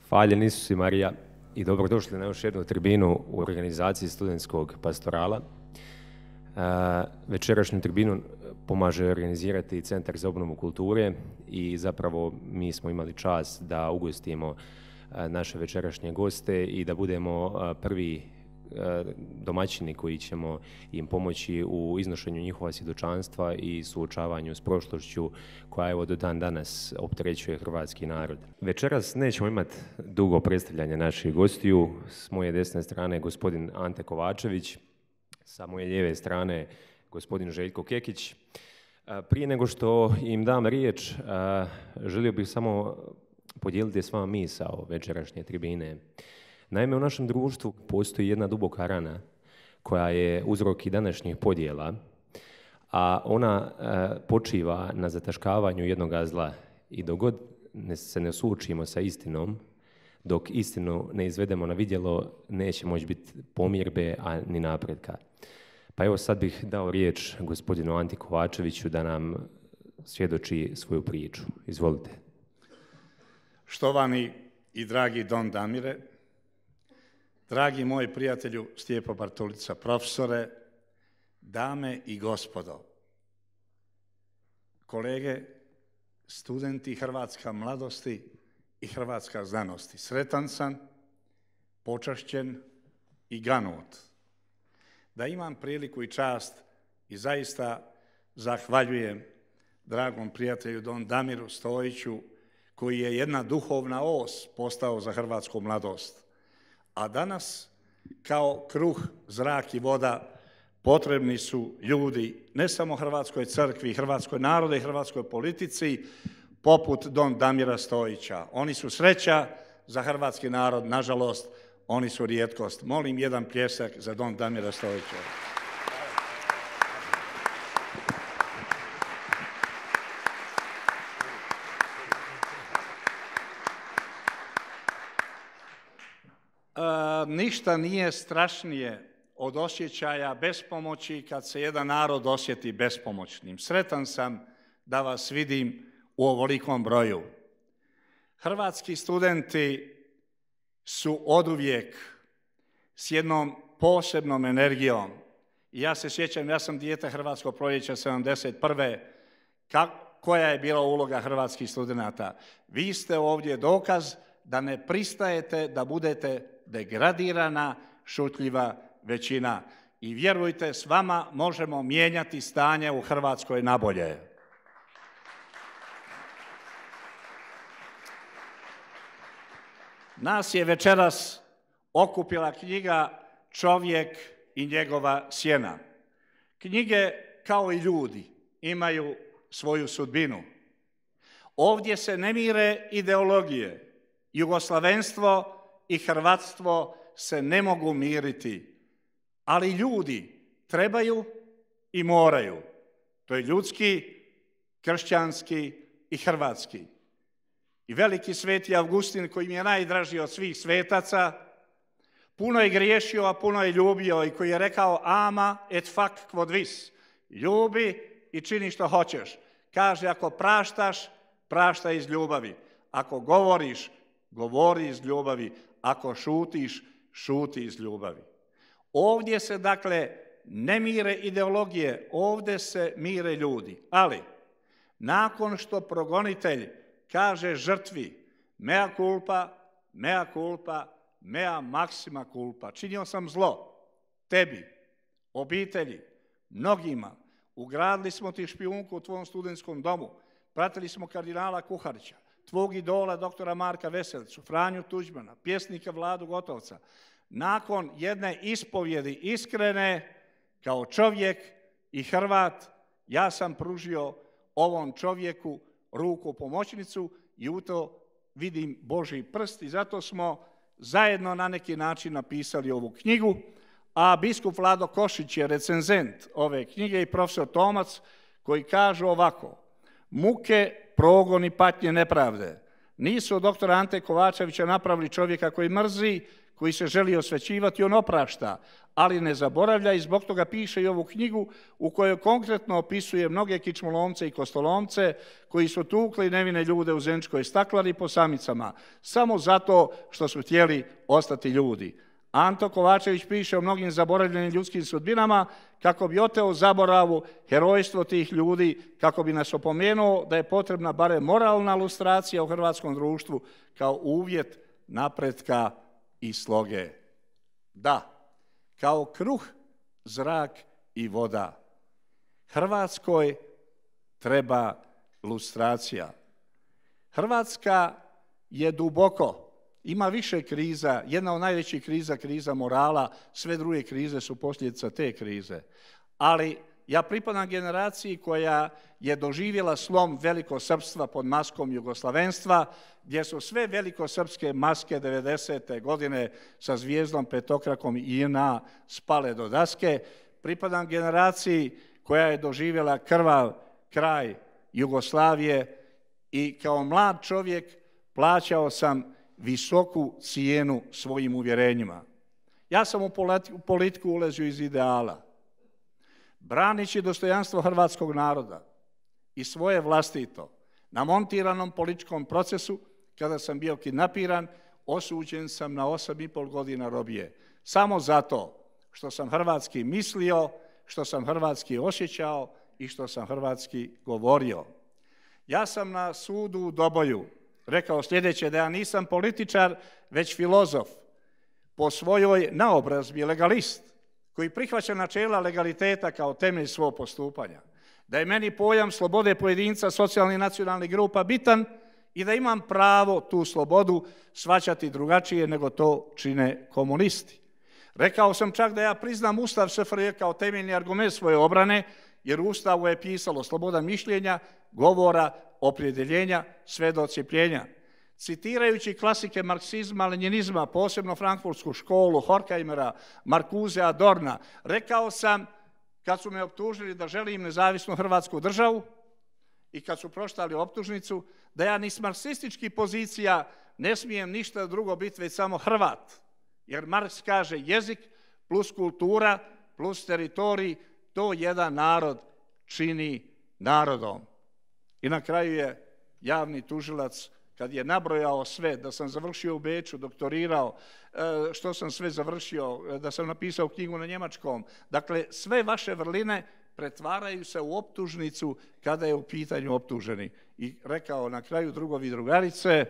Hvaljen Isus i Marija i dobrodošli na još jednu tribinu u organizaciji studentskog pastorala. Večerašnju tribinu pomaže organizirati Centar za obnovu kulture i zapravo mi smo imali čast da ugostimo naše večerašnje goste i da budemo prvi domaćini koji ćemo im pomoći u iznošenju njihova svjedočanstva i suočavanju s prošlošću koja evo do dan danas opterećuje hrvatski narod. Večeras nećemo imati dugo predstavljanje naših gostiju. S moje desne strane gospodin Ante Kovačević, sa moje lijeve strane gospodin Željko Kekić. Prije nego što im dam riječ, želio bih samo podijeliti s vama misao večerašnje tribine. Naime, u našem društvu postoji jedna duboka rana koja je uzrok i današnjih podjela, a ona počiva na zataškavanju jednoga zla. I dok god se ne suočimo sa istinom, dok istinu ne izvedemo na vidjelo, neće moći biti pomirbe, a ni napretka. Pa evo sad bih dao riječ gospodinu Anti Kovačeviću da nam svjedoči svoju priču. Izvolite. Štovani i dragi Don Damire, dragi moji prijatelju Stjepo Bartolica, profesore, dame i gospodo, kolege, studenti Hrvatska mladosti i Hrvatska znanosti, sretan sam, počašćen i ganut da imam priliku i čast i zaista zahvaljujem dragom prijatelju Don Damiru Stojiću koji je jedna duhovna os postao za hrvatsku mladost. A danas, kao kruh, zrak i voda, potrebni su ljudi, ne samo Hrvatskoj crkvi, Hrvatskoj narode i hrvatskoj politici, poput Don Damira Stojića. Oni su sreća za hrvatski narod, nažalost, oni su rijetkost. Molim jedan pljesak za Don Damira Stojića. Ništa nije strašnije od osjećaja bespomoći kad se jedan narod osjeti bespomoćnim. Sretan sam da vas vidim u ovolikom broju. Hrvatski studenti su oduvijek s jednom posebnom energijom. Ja se sjećam, ja sam dijete Hrvatskog proljeća 71. Koja je bila uloga hrvatskih studenata? Vi ste ovdje dokaz da ne pristajete da budete degradirana, šutljiva većina. I vjerujte, s vama možemo mijenjati stanje u Hrvatskoj nabolje. Nas je večeras okupila knjiga Čovjek i njegova sjena. Knjige, kao i ljudi, imaju svoju sudbinu. Ovdje se ne mire ideologije. Jugoslavenstvo i hrvatstvo se ne mogu miriti, ali ljudi trebaju i moraju. To je ljudski, kršćanski i hrvatski. I veliki sveti Avgustin, koji mi je najdraži od svih svetaca, puno je griješio, a puno je ljubio i koji je rekao ama et fac quod vis. Ljubi i čini što hoćeš. Kaže, ako praštaš, praštaj iz ljubavi. Ako govoriš, govori iz ljubavi. Ako šutiš, šuti iz ljubavi. Ovdje se, dakle, ne mire ideologije, ovdje se mire ljudi. Ali, nakon što progonitelj kaže žrtvi mea culpa, mea culpa, mea maxima culpa, činio sam zlo tebi, obitelji, mnogima, ugradili smo ti špijunku u tvom studentskom domu, pratili smo kardinala Kuharića, tvog idola doktora Marka Veselicu, Franju Tuđmana, pjesnika Vladu Gotovca. Nakon jedne ispovjedi iskrene, kao čovjek i Hrvat, ja sam pružio ovom čovjeku ruku pomoćnicu i u to vidim Božji prst i zato smo zajedno na neki način napisali ovu knjigu, a biskup Vlado Košić je recenzent ove knjige i profesor Tomac koji kažu ovako: muke, progon i patnje nepravde nisu od doktora Ante Kovačevića napravili čovjeka koji mrzi, koji se želi osvećivati, on oprašta, ali ne zaboravlja i zbog toga piše i ovu knjigu u kojoj konkretno opisuje mnoge kičmolomce i kostolomce koji su tukli nevine ljude u Zeničkoj staklari po samicama, samo zato što su htjeli ostati ljudi. Anto Kovačević piše o mnogim zaboravljenim ljudskim sudbinama kako bi oteo zaboravu herojstvo tih ljudi, kako bi nas opomenuo da je potrebna barem moralna lustracija u hrvatskom društvu kao uvjet napretka i sloge. Da, kao kruh, zrak i voda. Hrvatskoj treba lustracija. Hrvatska je duboko, ima više kriza, jedna od najvećih kriza, kriza morala, sve druge krize su posljedica te krize. Ali ja pripadam generaciji koja je doživjela slom velikosrpstva pod maskom jugoslavenstva, gdje su sve velikosrpske maske 90. godine sa zvijezdom, petokrakom i JNA spale do daske. Pripadam generaciji koja je doživjela krvav kraj Jugoslavije i kao mlad čovjek plaćao sam visoku cijenu svojim uvjerenjima. Ja sam u politiku ulazio iz ideala, branići dostojanstvo hrvatskog naroda i svoje vlastito. Na montiranom političkom procesu, kada sam bio kidnapiran, osuđen sam na 8,5 godina robije. Samo zato što sam hrvatski mislio, što sam hrvatski osjećao i što sam hrvatski govorio. Ja sam na sudu u Doboju rekao sljedeće, da ja nisam političar, već filozof, po svojoj naobrazbi legalist, koji prihvaća načela legaliteta kao temelj svog postupanja. Da je meni pojam slobode pojedinca, socijalnih i nacionalnih grupa bitan i da imam pravo tu slobodu shvaćati drugačije nego to čine komunisti. Rekao sam čak da ja priznam Ustav SFRJ kao temeljni argument svoje obrane, jer u Ustavu je pisalo sloboda mišljenja, govora, opredjeljenja, sve do odcjepljenja. Citirajući klasike marksizma, lenjinizma, posebno frankfurtsku školu, Horkheimera, Marcuse, Adorna, rekao sam, kad su me optužili da želim nezavisnu hrvatsku državu i kad su proštali optužnicu, da ja ni s marksističkih pozicija ne smijem ništa drugo biti, već samo Hrvat. Jer Marks kaže jezik plus kultura plus teritorij, to jedan narod čini narodom. I na kraju je javni tužilac, kad je nabrojao sve, da sam završio u Beču, doktorirao, što sam sve završio, da sam napisao knjigu na njemačkom. Dakle, sve vaše vrline pretvaraju se u optužnicu kada je u pitanju optuženi. I rekao na kraju, drugovi i drugarice,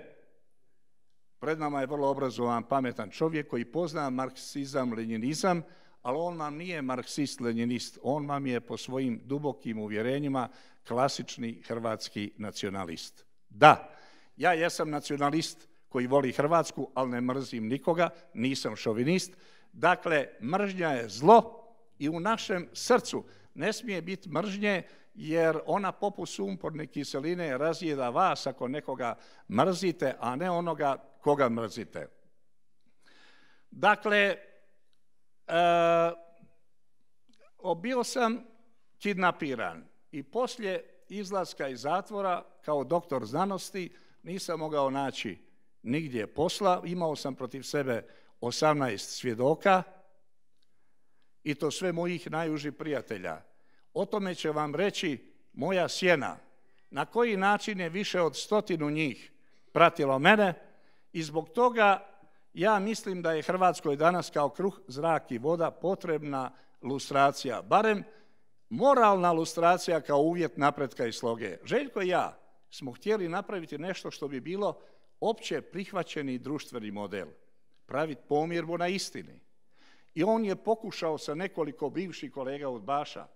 pred nama je vrlo obrazovan, pametan čovjek koji pozna marksizam, lenjinizam, ali on vam nije marksist-lenjinist, on vam je po svojim dubokim uvjerenjima klasični hrvatski nacionalist. Da, ja jesam nacionalist koji voli Hrvatsku, ali ne mrzim nikoga, nisam šovinist. Dakle, mržnja je zlo i u našem srcu ne smije biti mržnje, jer ona poput sumporne kiseline razjeda vas ako nekoga mrzite, a ne onoga koga mrzite. Dakle, bio sam kidnapiran i poslije izlaska iz zatvora kao doktor znanosti nisam mogao naći nigdje posla. Imao sam protiv sebe 18 svjedoka i to sve mojih najužih prijatelja. O tome će vam reći moja sjena, na koji način je više od 100 njih pratilo mene i zbog toga ja mislim da je Hrvatskoj danas kao kruh, zrak i voda potrebna lustracija, barem moralna lustracija kao uvjet napretka i sloge. Željko i ja smo htjeli napraviti nešto što bi bilo opće prihvaćeni društveni model, praviti pomirbu na istini. I on je pokušao sa nekoliko bivših kolega udbaša.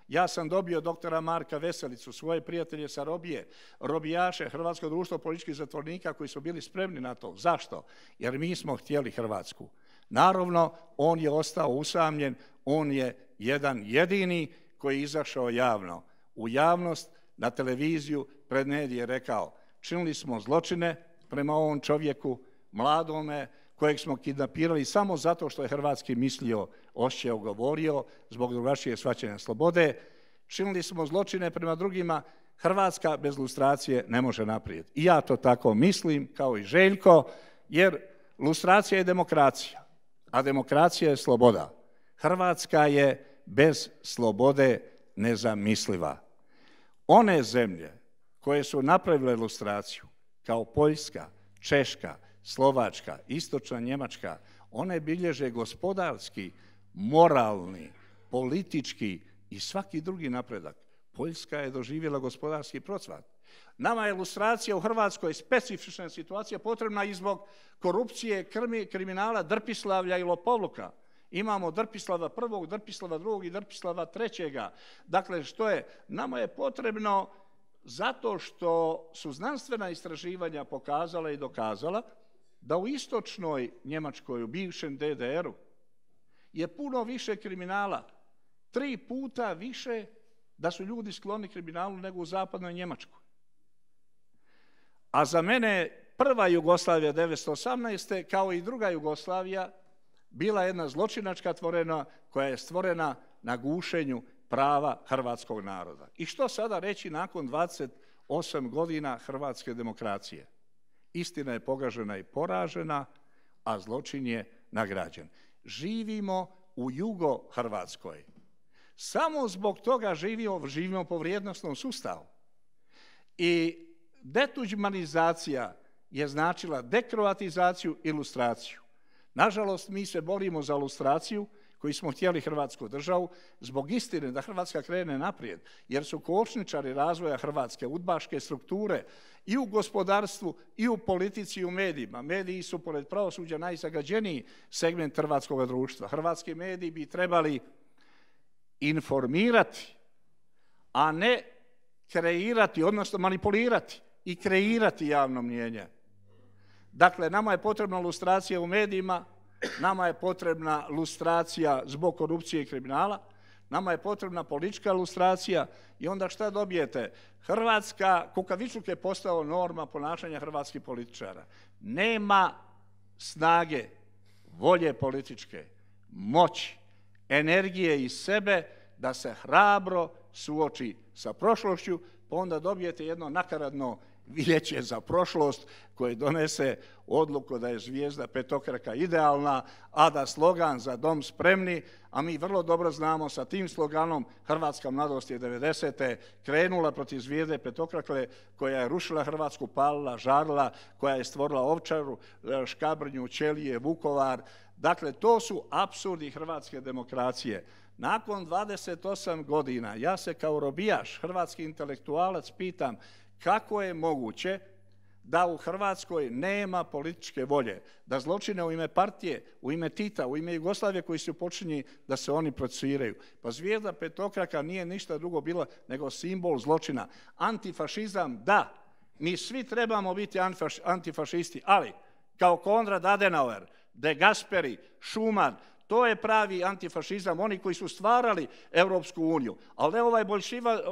Ja sam dobio doktora Marka Veselicu, svoje prijatelje sa robije, robijaše, Hrvatsko društvo političkih zatvornika koji su bili spremni na to. Zašto? Jer mi smo htjeli Hrvatsku. Naravno, on je ostao usamljen, on je jedan jedini koji je izašao javno. U javnost, na televiziju, pred medije rekao, činili smo zločine prema ovom čovjeku, mladome, kojeg smo kidnapirali samo zato što je hrvatski mislio, osjećao, govorio, zbog drugačijeg shvaćanja slobode. Činili smo zločine prema drugima. Hrvatska bez lustracije ne može naprijed. I ja to tako mislim, kao i Željko, jer lustracija je demokracija. a demokracija je sloboda. Hrvatska je bez slobode nezamisliva. One zemlje koje su napravile lustraciju, kao Poljska, Češka, Slovačka, Istočna Njemačka, one bilježe gospodarski, moralni, politički i svaki drugi napredak. Poljska je doživjela gospodarski procvat. Nama je lustracija u Hrvatskoj specifična situacija potrebna i zbog korupcije, kriminala, drpislavlja i lopovluka. Imamo Drpislava prvog, Drpislava drugog i Drpislava trećega. Dakle, što je? Nama je potrebno zato što su znanstvena istraživanja pokazala i dokazala da u istočnoj Njemačkoj, u bivšem DDR-u, je puno više kriminala. 3 puta više da su ljudi skloni kriminalu nego u zapadnoj Njemačkoj. A za mene prva Jugoslavija 1918. kao i druga Jugoslavija bila jedna zločinačka tvorena koja je stvorena na gušenju prava hrvatskog naroda. I što sada reći nakon 28 godina hrvatske demokracije? Istina je pogažena i poražena, a zločin je nagrađen. Živimo u Jugo-Hrvatskoj. Samo zbog toga živimo po vrijednosnom sustavu. I detuđmanizacija je značila dekroatizaciju i lustraciju. Nažalost, mi se borimo za lustraciju, koji smo htjeli Hrvatsku državu, zbog istine da Hrvatska krene naprijed, jer su kočničari razvoja hrvatske udbaške strukture i u gospodarstvu, i u politici, i u medijima. Mediji su, pored pravosuđa, najzagađeniji segment hrvatskog društva. Hrvatski mediji bi trebali informirati, a ne kreirati, odnosno manipulirati i kreirati javno mnijenje. Dakle, nama je potrebna lustracija u medijima, nama je potrebna lustracija zbog korupcije i kriminala, nama je potrebna politička lustracija i onda šta dobijete? Hrvatska, kukavičluk je postao norma ponašanja hrvatskih političara. Nema snage, volje političke, moći, energije iz sebe da se hrabro suoči sa prošlošću, pa onda dobijete jedno nakaradno vijeće za prošlost koje donese odluku da je zvijezda petokraka idealna, a da slogan za dom spremni, a mi vrlo dobro znamo sa tim sloganom Hrvatska mladost je 90. krenula protiv zvijezde petokrake koja je rušila Hrvatsku, palila, žarila, koja je stvorila Ovčaru, Škabrnju, Ćelije, Vukovar. Dakle, to su apsurdi hrvatske demokracije. Nakon 28 godina ja se kao robijaš, hrvatski intelektualac, pitam kako je moguće da u Hrvatskoj nema političke volje, da zločine u ime partije, u ime Tita, u ime Jugoslavije koji su počinjeni da se oni procesuiraju. Pa zvijezda petokraka nije ništa drugo bila nego simbol zločina. Antifašizam, da, mi svi trebamo biti antifašisti, ali kao Konrad Adenauer, De Gasperi, Schuman, to je pravi antifašizam, oni koji su stvarali Europsku uniju. Ali ne ovaj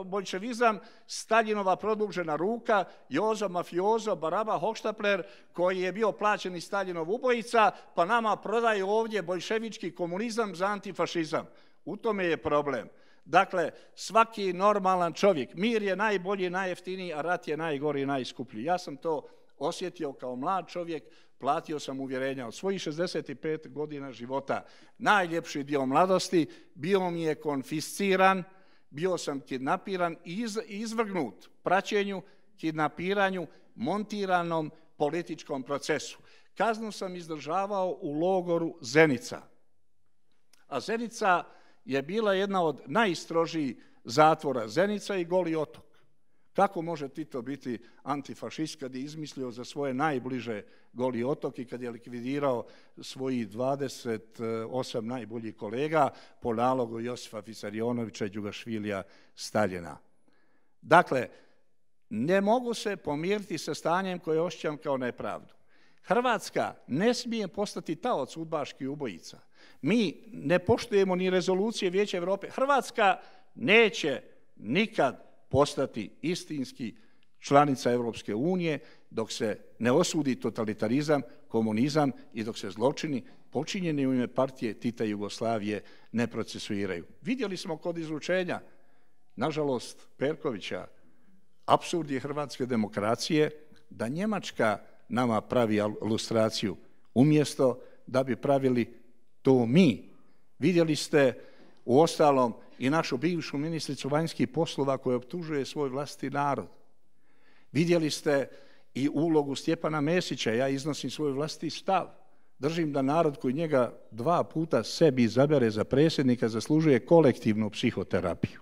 boljševizam, Staljinova produžena ruka, Jozo mafiozo, Baraba Hohštapler, koji je bio plaćeni Staljinov ubojica, pa nama prodaju ovdje boljševički komunizam za antifašizam. U tome je problem. Dakle, svaki normalan čovjek, mir je najbolji, najjeftiniji, a rat je najgori i najskuplji. Ja sam to osjetio kao mlad čovjek, platio sam uvjerenja od svojih 65 godina života. Najljepši dio mladosti bio mi je konfisciran, bio sam kidnapiran i izvrgnut praćenju, kidnapiranju, montiranom političkom procesu. Kaznu sam izdržavao u logoru Zenica. A Zenica je bila jedna od najstrožijih zatvora. Zenica i Goli otok. Kako može Tito biti antifašist kad je izmislio za svoje najbliže Goli otok i kad je likvidirao svojih 28 najboljih kolega po nalogu Josipa Visarionovića i Đugašvilija Staljina. Dakle, ne mogu se pomiriti sa stanjem koje osjećam kao nepravdu. Hrvatska ne smije postati taoc udbaških ubojica. Mi ne poštujemo ni rezolucije Vijeća Europe. Hrvatska neće nikad postati istinski članica Europske unije dok se ne osudi totalitarizam, komunizam i dok se zločini počinjeni u ime partije Tita i Jugoslavije ne procesuiraju. Vidjeli smo kod izručenja, nažalost, Perkovića, apsurd je hrvatske demokracije da Njemačka nama pravi lustraciju umjesto da bi pravili to mi. Vidjeli ste uostalom i našu bivšu ministricu vanjskih poslova koja optužuje svoj vlastiti narod. Vidjeli ste i ulogu Stjepana Mesića, ja iznosim svoj vlastiti stav. Držim da narod koji njega 2 puta sebi izabere za predsjednika zaslužuje kolektivnu psihoterapiju.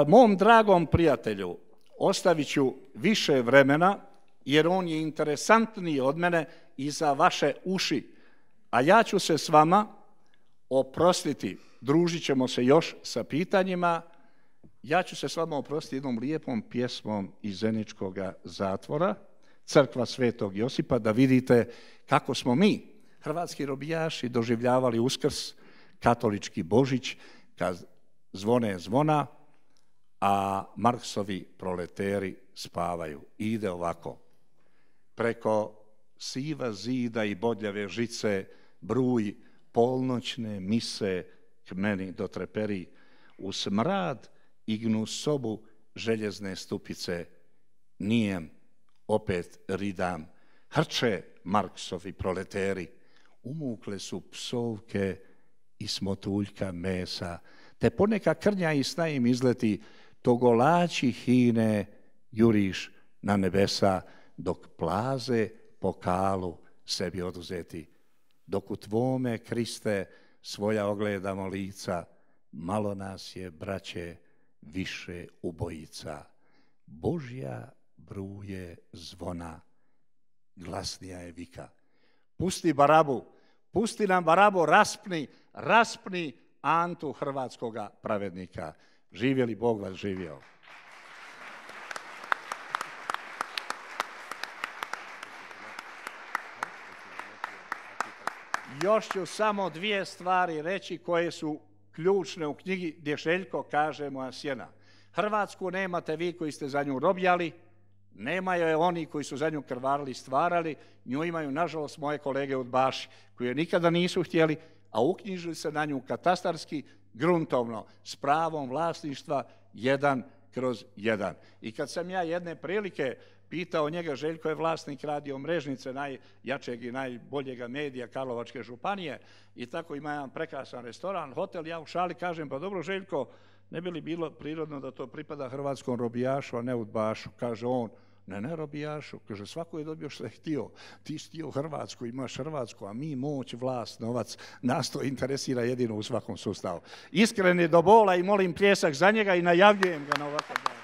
Mom dragom prijatelju ostavit ću više vremena, jer on je interesantniji od mene i za vaše uši. A ja ću se s vama oprostiti, družit ćemo se još sa pitanjima, ja ću se s vama oprostiti jednom lijepom pjesmom iz Zeničkog zatvora, Crkva Svetog Josipa, da vidite kako smo mi, hrvatski robijaši, doživljavali Uskrs, katolički Božić, kad zvone zvona, a Marksovi proleteri spavaju. I ide ovako. Preko siva zida i bodljave žice bruj polnoćne mise k meni dotreperi, u smrad i gnusobu željezne stupice, nijem opet ridam, hrče Marksovi proleteri, umukle su psovke i smotuljka mesa, te poneka krnja i sna im izleti, togolači hine juriš na nebesa, dok plaze po kalu sebi oduzeti. Dok u tvome, Kriste, svoja ogledamo lica, malo nas je, braće, više ubojica. Božja bruje zvona, glasnija je vika. Pusti Barabu, pusti nam Barabu, raspni Antu, hrvatskoga pravednika. Živjeli, Bog vas živio. Još ću samo 2 stvari reći koje su ključne u knjigi gdje Željko kaže Moja sjena. Hrvatsku nemate vi koji ste za nju robljali, nemaju je oni koji su za nju krvarili i stvarali, nju imaju, nažalost, moje kolege udbaši, koji je nikada nisu htjeli, a uknjižili se na nju katastarski, gruntovno, s pravom vlasništva 1/1. I kad sam ja jedne prilike pitao njega, Željko je vlasnik Radio Mrežnice, najjačeg i najboljega medija Karlovačke županije, i tako ima jedan prekrasan restoran, hotel, ja u šali kažem, pa dobro Željko, ne bi li bilo prirodno da to pripada hrvatskom robijašu, a ne udbašu? Kaže on, ne robijašu, kaže svako je dobio što je htio, ti si htio Hrvatsku, imaš Hrvatsku, a mi moć, vlast, novac, nas to interesira jedino u svakom sustavu. Iskren je do bola i molim pljesak za njega i najavljujem ga na ovakav dan.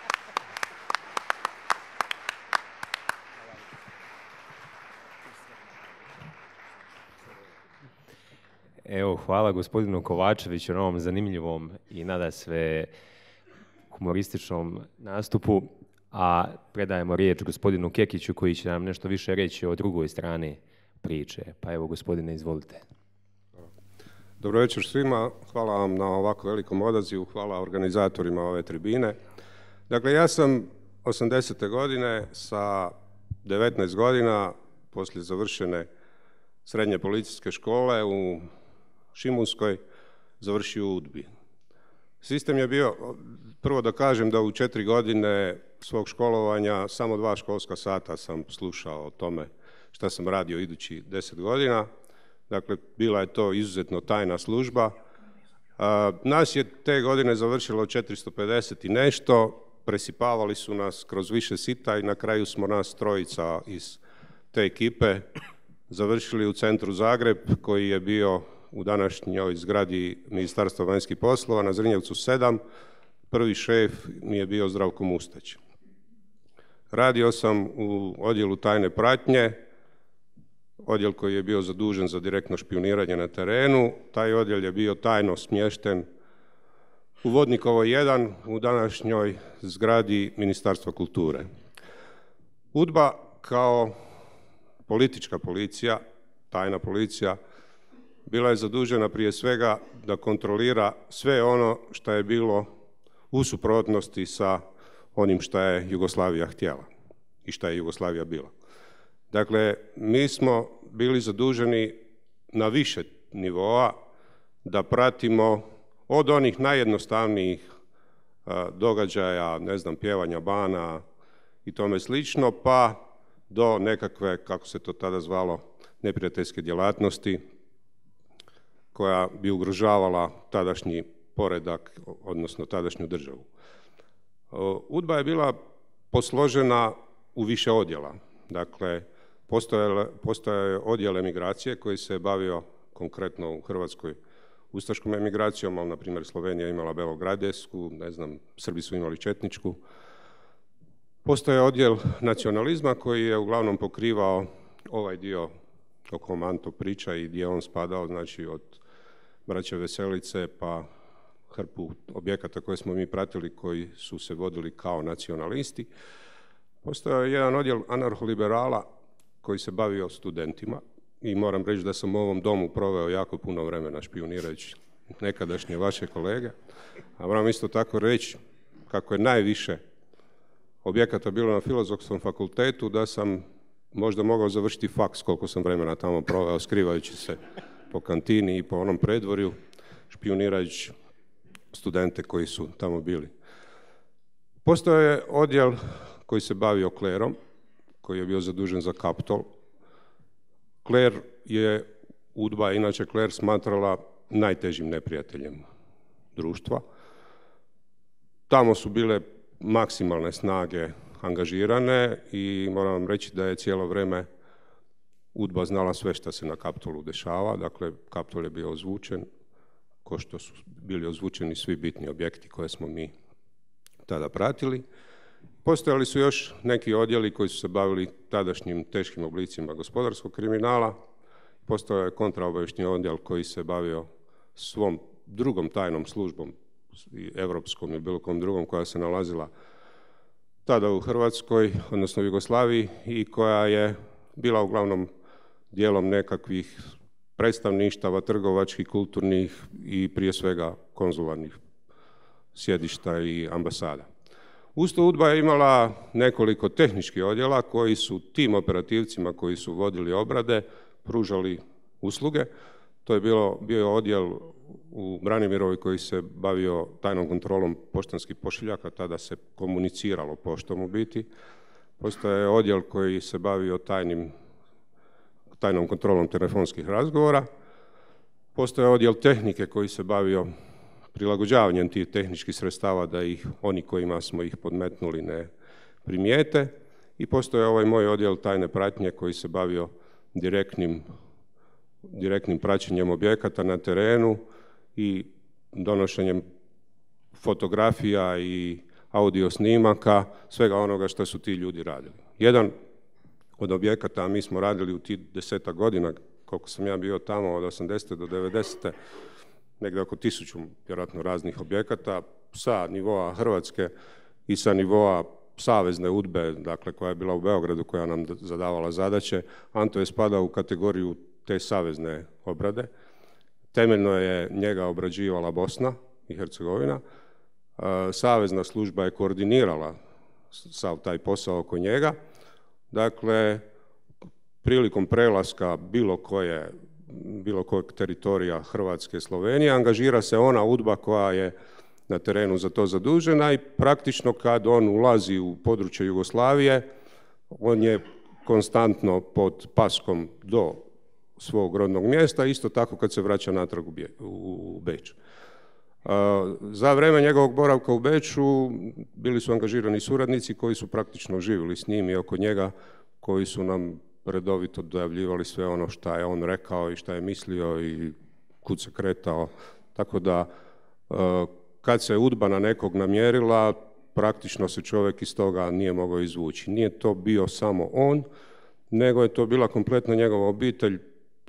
Evo, hvala gospodinu Kovačeviću na ovom zanimljivom i nadasve humorističnom nastupu, a predajemo riječ gospodinu Kekiću koji će nam nešto više reći o drugoj strani priče. Pa evo, gospodine, izvolite. Dobro večer svima, hvala vam na ovako velikom odazivu, hvala organizatorima ove tribine. Dakle, ja sam 80. godine sa 19 godina, poslije završene srednje policijske škole u Šimunskoj, završio u UDBI. Sistem je bio, prvo da kažem da u 4 godine svog školovanja samo 2 školska sata sam slušao o tome šta sam radio idući 10 godina. Dakle, bila je to izuzetno tajna služba. Nas je te godine završilo 450 i nešto, presipavali su nas kroz više sita i na kraju smo nas 3 iz te ekipe završili u centru Zagreb, koji je bio u današnjoj zgradi Ministarstva vanjskih poslova na Zrinjevcu 7. Prvi šef mi je bio Zdravko Mustać. Radio sam u odjelu tajne pratnje, odjel koji je bio zadužen za direktno špijuniranje na terenu. Taj odjel je bio tajno smješten u Vodnikovoj 1 u današnjoj zgradi Ministarstva kulture. UDBA kao politička policija, tajna policija, bila je zadužena prije svega da kontrolira sve ono što je bilo u suprotnosti sa onim što je Jugoslavija htjela i što je Jugoslavija bila. Dakle, mi smo bili zaduženi na više nivoa da pratimo od onih najjednostavnijih događaja, ne znam, pjevanja bana i tome slično, pa do nekakve, kako se to tada zvalo, neprijateljske djelatnosti koja bi ugrožavala tadašnji poredak, odnosno tadašnju državu. UDBA je bila posložena u više odjela. Dakle, postojao je odjel emigracije koji se bavio konkretno u Hrvatskoj ustaškom emigracijom, ali na primjer Slovenija imala belogradesku, ne znam, Srbi su imali četničku. Postoje odjel nacionalizma koji je uglavnom pokrivao ovaj dio o kom Anto priča i gdje on spadao, znači od braće Veselice pa hrpu objekata koje smo mi pratili koji su se vodili kao nacionalisti. Postoje jedan odjel anarholiberala koji se bavio studentima i moram reći da sam u ovom domu proveo jako puno vremena špijunirajući nekadašnje vaše kolege. A moram isto tako reći kako je najviše objekata bilo na Filozofskom fakultetu da sam možda mogao završiti faks koliko sam vremena tamo proveo skrivajući se po kantini i po onom predvorju špijunirajući studente koji su tamo bili. Postojao je odjel koji se bavio klerom, koji je bio zadužen za Kaptol. Kler je UDBA, inače kler smatrala najtežim neprijateljem društva. Tamo su bile maksimalne snage angažirane i moram vam reći da je cijelo vrijeme UDBA znala sve što se na Kaptolu dešava. Dakle, Kaptol je bio ozvučen, ko što su bili ozvučeni svi bitni objekti koje smo mi tada pratili. Postojali su još neki odjeli koji su se bavili tadašnjim teškim oblicima gospodarskog kriminala. Postojao je kontraobavještajni odjel koji se bavio svom drugom tajnom službom, evropskom i bilo kom drugom, koja se nalazila tada u Hrvatskoj, odnosno u Jugoslaviji, i koja je bila uglavnom dijelom nekakvih predstavništava, trgovačkih, kulturnih i prije svega konzularnih sjedišta i ambasada. Uz to UDBA je imala nekoliko tehničkih odjela koji su tim operativcima koji su vodili obrade pružali usluge. To je bio odjel u Branimirovoj koji se bavio tajnom kontrolom poštanskih pošiljaka, tada se komuniciralo poštom u biti. Postoje odjel koji se bavio tajnom kontrolom telefonskih razgovora. Postoje odjel tehnike koji se bavio prilagođavanjem tih tehničkih sredstava da ih oni kojima smo ih podmetnuli ne primijete. I postoje ovaj moj odjel tajne pratnje koji se bavio direktnim praćenjem objekata na terenu i donošenjem fotografija i audio snimaka, svega onoga što su ti ljudi radili. Jedan od objekata, a mi smo radili u tih 10 godina, koliko sam ja bio tamo, od 80. do 90. negdje oko 1000 vjerojatno raznih objekata sa nivoa Hrvatske i sa nivoa savezne UDBE, dakle koja je bila u Beogradu, koja nam zadavala zadaće. Anto je spadao u kategoriju te savezne obrade. Temeljno je njega obrađivala Bosna i Hercegovina. Savezna služba je koordinirala sav taj posao oko njega. Dakle, prilikom prelaska bilo kojeg teritorija Hrvatske i Slovenije angažira se ona UDBA koja je na terenu za to zadužena i praktično kad on ulazi u područje Jugoslavije, on je konstantno pod paskom do svog rodnog mjesta, isto tako kad se vraća natrag u Beč. Za vrijeme njegovog boravka u Beču bili su angažirani suradnici koji su praktično živjeli s njim i oko njega, koji su nam redovito dojavljivali sve ono što je on rekao i što je mislio i kud se kretao. Tako da kad se UDBA na nekog namjerila, praktično se čovjek iz toga nije mogao izvući. Nije to bio samo on, nego je to bila kompletna njegova obitelj,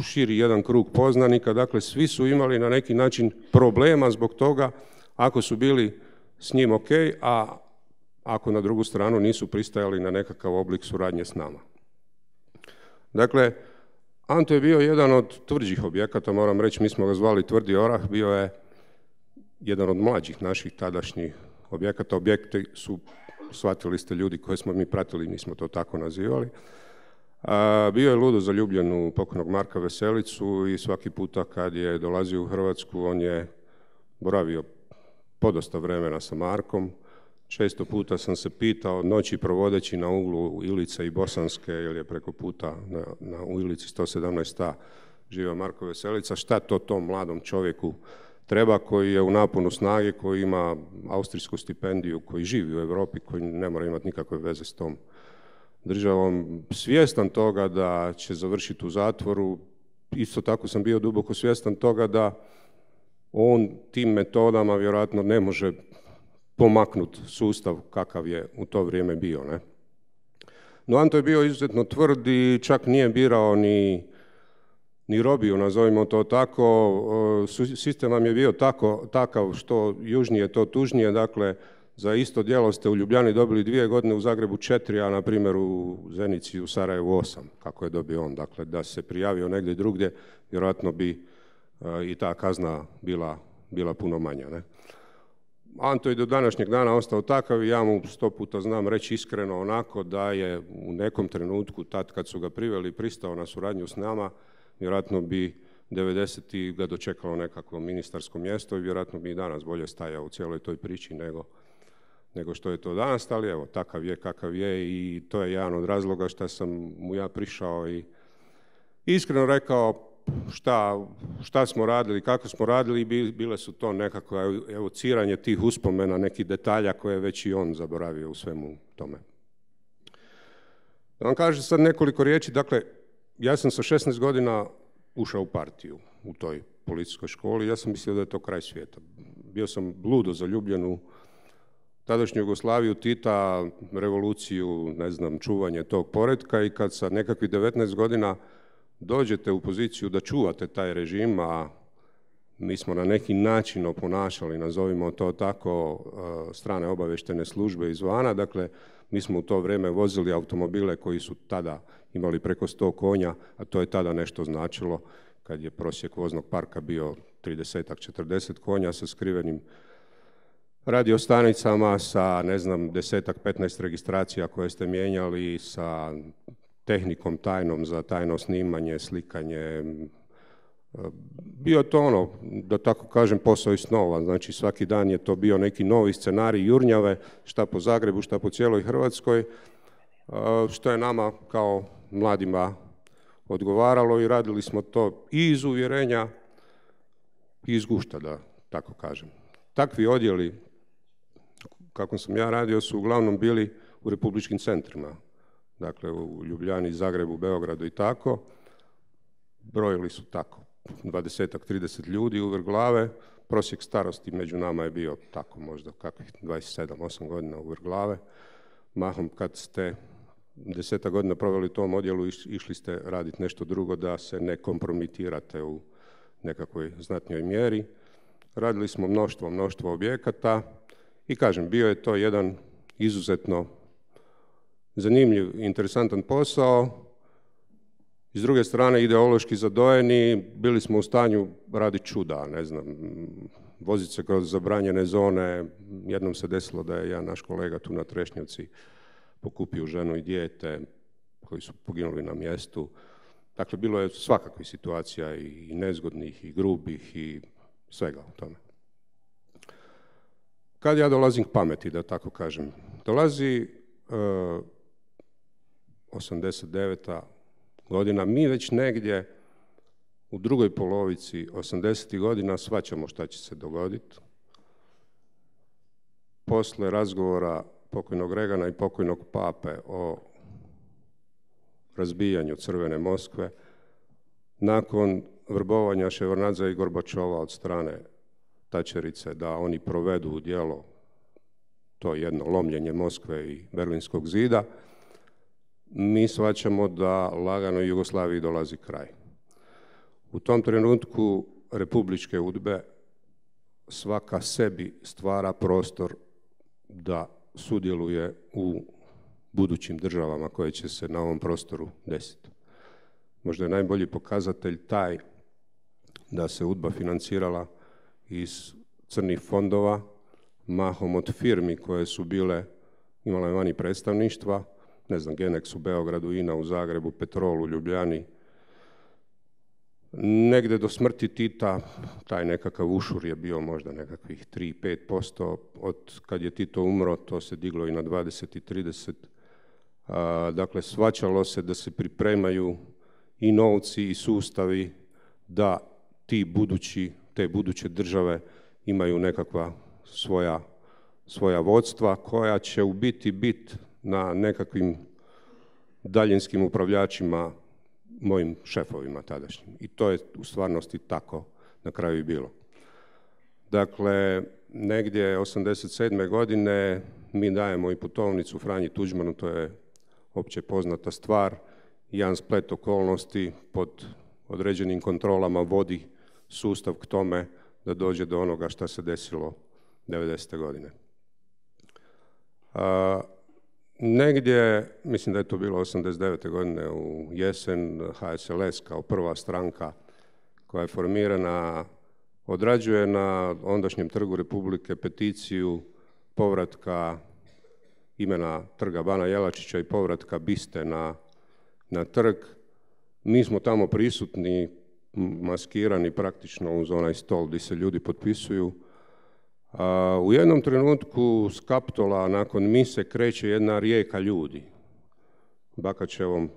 širi jedan krug poznanika, dakle svi su imali na neki način problema zbog toga ako su bili s njim ok, a ako na drugu stranu nisu pristajali na nekakav oblik suradnje s nama. Dakle, Anto je bio jedan od tvrđih objekata, moram reći, mi smo ga zvali Tvrdi orah, bio je jedan od mlađih naših tadašnjih objekata. Objekti su, shvatili ste ljudi koje smo mi pratili, mi smo to tako nazivali. Bio je ludo zaljubljen u pokojnog Marka Veselicu i svaki puta kad je dolazio u Hrvatsku, on je boravio podosta vremena sa Markom. Često puta sam se pitao, noći provodeći na uglu Ilice i Bosanske, jer je preko puta u Ilici 117a živa Marko Veselica, šta to tom mladom čovjeku treba, koji je u naponu snage, koji ima austrijsku stipendiju, koji živi u Europi, koji ne mora imati nikakve veze s tom državom, svjestan toga da će završiti u zatvoru. Isto tako sam bio duboko svjestan toga da on tim metodama vjerojatno ne može pomaknuti sustav kakav je u to vrijeme bio. Ne? No Anto je bio izuzetno tvrd i čak nije birao ni robiju, nazovimo to tako. Sistem vam je bio takav što južnije to tužnije, dakle za isto djelo ste u Ljubljani dobili 2 godine, u Zagrebu 4, a na primjer u Zenici u Sarajevu 8, kako je dobio on. Dakle, da se prijavio negdje drugdje, vjerojatno bi i ta kazna bila puno manja. Ne? Anto je do današnjeg dana ostao takav i ja mu 100 puta znam reći iskreno onako da je u nekom trenutku, tad kad su ga priveli, pristao na suradnju s nama, vjerojatno bi 90. ga dočekalo nekakvo ministarsko mjesto i vjerojatno bi i danas bolje stajao u cijeloj toj priči nego što je to danas, ali evo, takav je kakav je i to je jedan od razloga što sam mu ja prišao i iskreno rekao šta smo radili, kako smo radili i bile su to nekako evociranje tih uspomena, nekih detalja koje je već i on zaboravio u svemu tome. Da vam kažem sad nekoliko riječi, dakle, ja sam sa 16 godina ušao u partiju u toj policijskoj školi, ja sam mislio da je to kraj svijeta. Bio sam ludo zaljubljen u tadašnju Jugoslaviju, Tita, revoluciju, ne znam, čuvanje tog poretka i kad sa nekakvih 19 godina dođete u poziciju da čuvate taj režim, a mi smo na neki način oponašali, nazovimo to tako, strane obavještajne službe izvana, dakle, mi smo u to vrijeme vozili automobile koji su tada imali preko 100 konja, a to je tada nešto značilo, kad je prosjek voznog parka bio 30-40 konja sa skrivenim radiostanicama, sa, ne znam, 10-15 registracija koje ste mijenjali, sa tehnikom tajnom za tajno snimanje, slikanje. Bio to ono, da tako kažem, posao iz snova. Znači svaki dan je to bio neki novi scenarij jurnjave, šta po Zagrebu, šta po cijeloj Hrvatskoj, što je nama kao mladima odgovaralo i radili smo to i iz uvjerenja i iz gušta, da tako kažem. Takvi odjeli, kako sam ja radio, su uglavnom bili u republičkim centrima. Dakle, u Ljubljani, Zagrebu, Beogradu i tako. Brojili su tako 20-30 ljudi u vrh glave. Prosjek starosti među nama je bio tako možda kakvih 27-8 godina u vrh glave. Mahom kad ste 10 godina proveli u tom odjelu, išli ste raditi nešto drugo da se ne kompromitirate u nekakvoj znatnijoj mjeri. Radili smo mnoštvo objekata i kažem, bio je to jedan izuzetno zanimljiv, interesantan posao. S druge strane, ideološki zadojeni, bili smo u stanju raditi čuda, ne znam, voziti se kroz zabranjene zone. Jednom se desilo da je jedan naš kolega tu na Trešnjevci pokupio ženu i dijete koji su poginuli na mjestu. Dakle, bilo je svakakvih situacija i nezgodnih i grubih i svega u tome. Kad ja dolazim k pameti, da tako kažem, dolazi 89. godina, mi već negdje u drugoj polovici 80. godina shvaćamo šta će se dogoditi. Posle razgovora pokojnog Regana i pokojnog Pape o razbijanju Crvene Moskve, nakon vrbovanja Ševardnadze i Gorbačova od strane Tačerice da oni provedu u djelo to jedno lomljenje Moskve i Berlinskog zida, mi shvaćamo da lagano Jugoslaviji dolazi kraj. U tom trenutku republičke UDBE svaka sebi stvara prostor da sudjeluje u budućim državama koje će se na ovom prostoru desiti. Možda je najbolji pokazatelj taj da se UDBA financirala iz crnih fondova, mahom od firmi koje su imale vani predstavništva, ne znam, Genex u Beogradu, INA u Zagrebu, Petrol u Ljubljani, Negdje do smrti Tita, taj nekakav ušur je bio možda nekakvih 3-5%, od kad je Tito umro, to se diglo i na 20 i 30. Dakle, shvaćalo se da se pripremaju i novci i sustavi da te buduće države imaju nekakva svoja vodstva koja će u biti na nekakvim daljinskim upravljačima, mojim šefovima tadašnjim. I to je u stvarnosti tako na kraju i bilo. Dakle, negdje 87. godine mi dajemo i putovnicu Franji Tuđmanu, to je opće poznata stvar. Jedan splet okolnosti pod određenim kontrolama vodi sustav k tome da dođe do onoga što se desilo 90. godine. Negdje, mislim da je to bilo 89. godine u jesen, HSLS kao prva stranka koja je formirana odrađuje na ondašnjem Trgu Republike peticiju povratka imena Trga Bana Jelačića i povratka biste na trg. Mi smo tamo prisutni, maskirani praktično uz onaj stol gdje se ljudi potpisuju. U jednom trenutku s Kaptola nakon mise kreće jedna rijeka ljudi. Bakačevom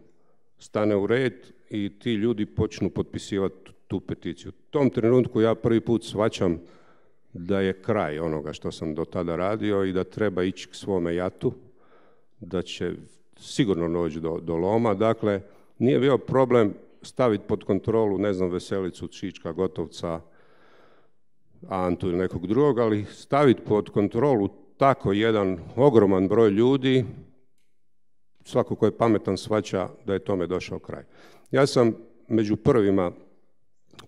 stane u red i ti ljudi počnu potpisivati tu peticiju. U tom trenutku ja prvi put shvaćam da je kraj onoga što sam do tada radio i da treba ići k svome jatu, da će sigurno doći do loma. Dakle, nije bio problem staviti pod kontrolu, ne znam, Veselicu, Čička, Gotovca, Antu ili nekog drugog, ali staviti pod kontrolu tako jedan ogroman broj ljudi, svako ko je pametan shvaća da je tome došao kraj. Ja sam među prvima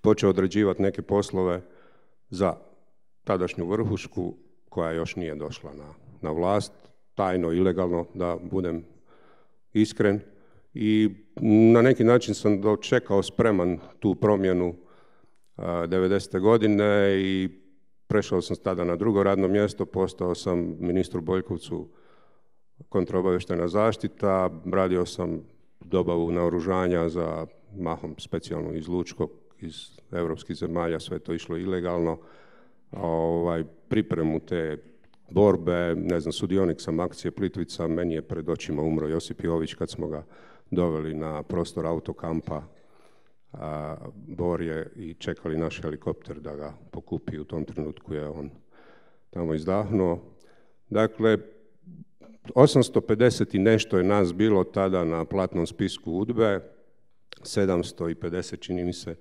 počeo određivati neke poslove za tadašnju vrhušku koja još nije došla na vlast, tajno, ilegalno, da budem iskren. I na neki način sam dočekao spreman tu promjenu 90. godine i prešao sam tada na drugo radno mjesto, postao sam ministru Boljkovcu kontraobavještajna zaštita, radio sam dobavu naoružanja za mahom specijalnu iz Lučkog, iz europskih zemalja, sve to išlo ilegalno, pripremu te borbe, ne znam, sudionik sam akcije Plitvica, meni je pred očima umro Josip Jović kad smo ga doveli na prostor autokampa Borje i čekali naš helikopter da ga pokupi. U tom trenutku je on tamo izdahnuo. Dakle, 850 i nešto je nas bilo tada na platnom spisku UDBE, 750 čini mi se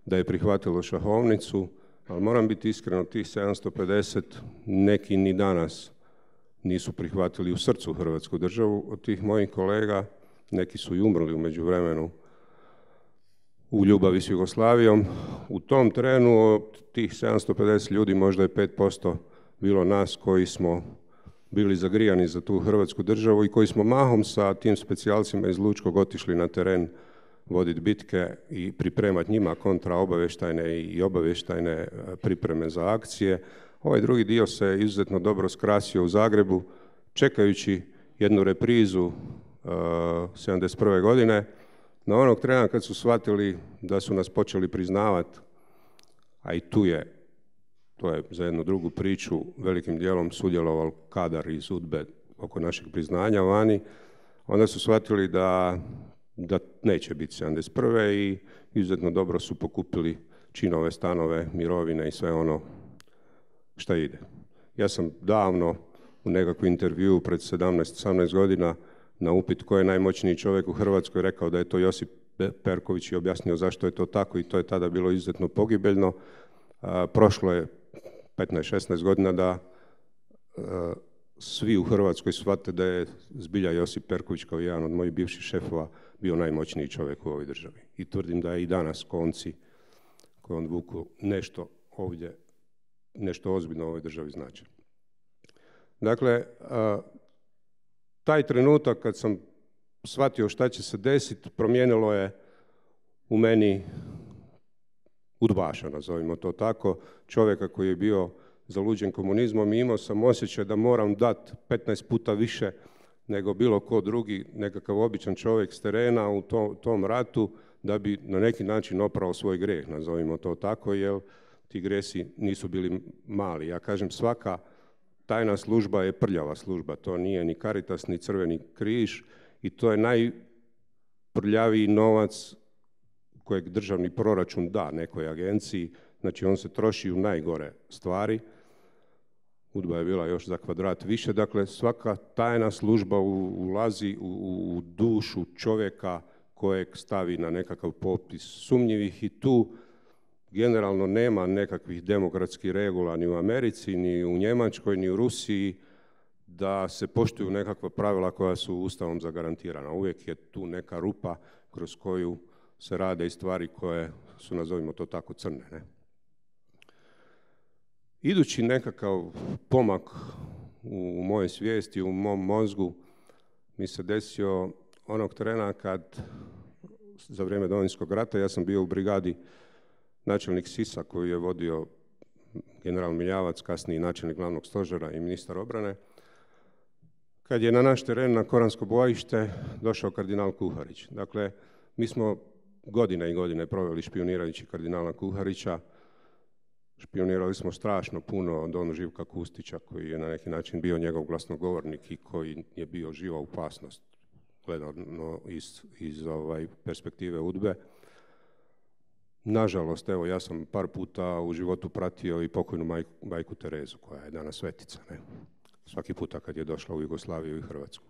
da je prihvatilo šahovnicu, ali moram biti iskren, od tih 750 neki ni danas nisu prihvatili u srcu Hrvatsku državu. Od tih mojih kolega neki su i umrli u međuvremenu u ljubavi s Jugoslavijom. U tom trenu od tih 750 ljudi možda je 5% bilo nas koji smo bili zagrijani za tu Hrvatsku državu i koji smo mahom sa tim specijalcima iz Lučkog otišli na teren voditi bitke i pripremati njima kontraobavještajne i obavještajne pripreme za akcije. Ovaj drugi dio se izuzetno dobro skrasio u Zagrebu, čekajući jednu reprizu 71. godine. Na onog trena kad su shvatili da su nas počeli priznavati, a i to je za jednu drugu priču, velikim dijelom sudjelovao kadar iz UDBE oko našeg priznanja vani, onda su shvatili da neće biti 71. i izuzetno dobro su pokupili činove, stanove, mirovine i sve ono šta ide. Ja sam davno u nekakvom intervjuu pred 17-18 godina na upit ko je najmoćniji čovjek u Hrvatskoj rekao da je to Josip Perković i objasnio zašto je to tako i to je tada bilo izuzetno pogibeljno. Prošlo je 15-16 godina da svi u Hrvatskoj shvate da je zbilja Josip Perković kao jedan od mojih bivših šefova bio najmoćniji čovjek u ovoj državi. I tvrdim da je i danas konci koji on vuku nešto ovdje, nešto ozbiljno u ovoj državi znači. Dakle, taj trenutak kad sam shvatio šta će se desiti, promijenilo je u meni udbaša, nazovimo to tako, čovjeka koji je bio zaluđen komunizmom i imao sam osjećaj da moram dati 15 puta više nego bilo ko drugi, nekakav običan čovjek s terena u tom ratu, da bi na neki način oprao svoj grijeh, nazovimo to tako, jer ti grijesi nisu bili mali. Ja kažem, svaka tajna služba je prljava služba, to nije ni Caritas, ni Crveni križ i to je najprljaviji novac kojeg državni proračun da nekoj agenciji, znači on se troši u najgore stvari. UDBA je bila još za kvadrat više, dakle svaka tajna služba ulazi u dušu čovjeka kojeg stavi na nekakav popis sumnjivih i tu generalno nema nekakvih demokratskih regula ni u Americi, ni u Njemačkoj, ni u Rusiji da se poštuju nekakva pravila koja su Ustavom zagarantirana. Uvijek je tu neka rupa kroz koju se rade i stvari koje su, nazovimo to tako, crne. Ne? Idući nekakav pomak u mojoj svijesti, u mom mozgu, mi se desio onog trena kad, za vrijeme Domovinskog rata, ja sam bio u brigadi načelnik SIS-a koju je vodio general Miljavac, kasniji načelnik glavnog stožera i ministar obrane, kad je na naš teren, na Koransko bojište, došao kardinal Kuharić. Dakle, mi smo godine i godine proveli špionirajući kardinala Kuharića. Špionirali smo strašno puno od Don Živka Kustića, koji je na neki način bio njegov glasnogovornik i koji je bio živa opasnost, gledano iz perspektive UDBE. Nažalost, evo, ja sam par puta u životu pratio i pokojnu majku Terezu, koja je danas svetica, ne? Svaki puta kad je došla u Jugoslaviju i Hrvatsku.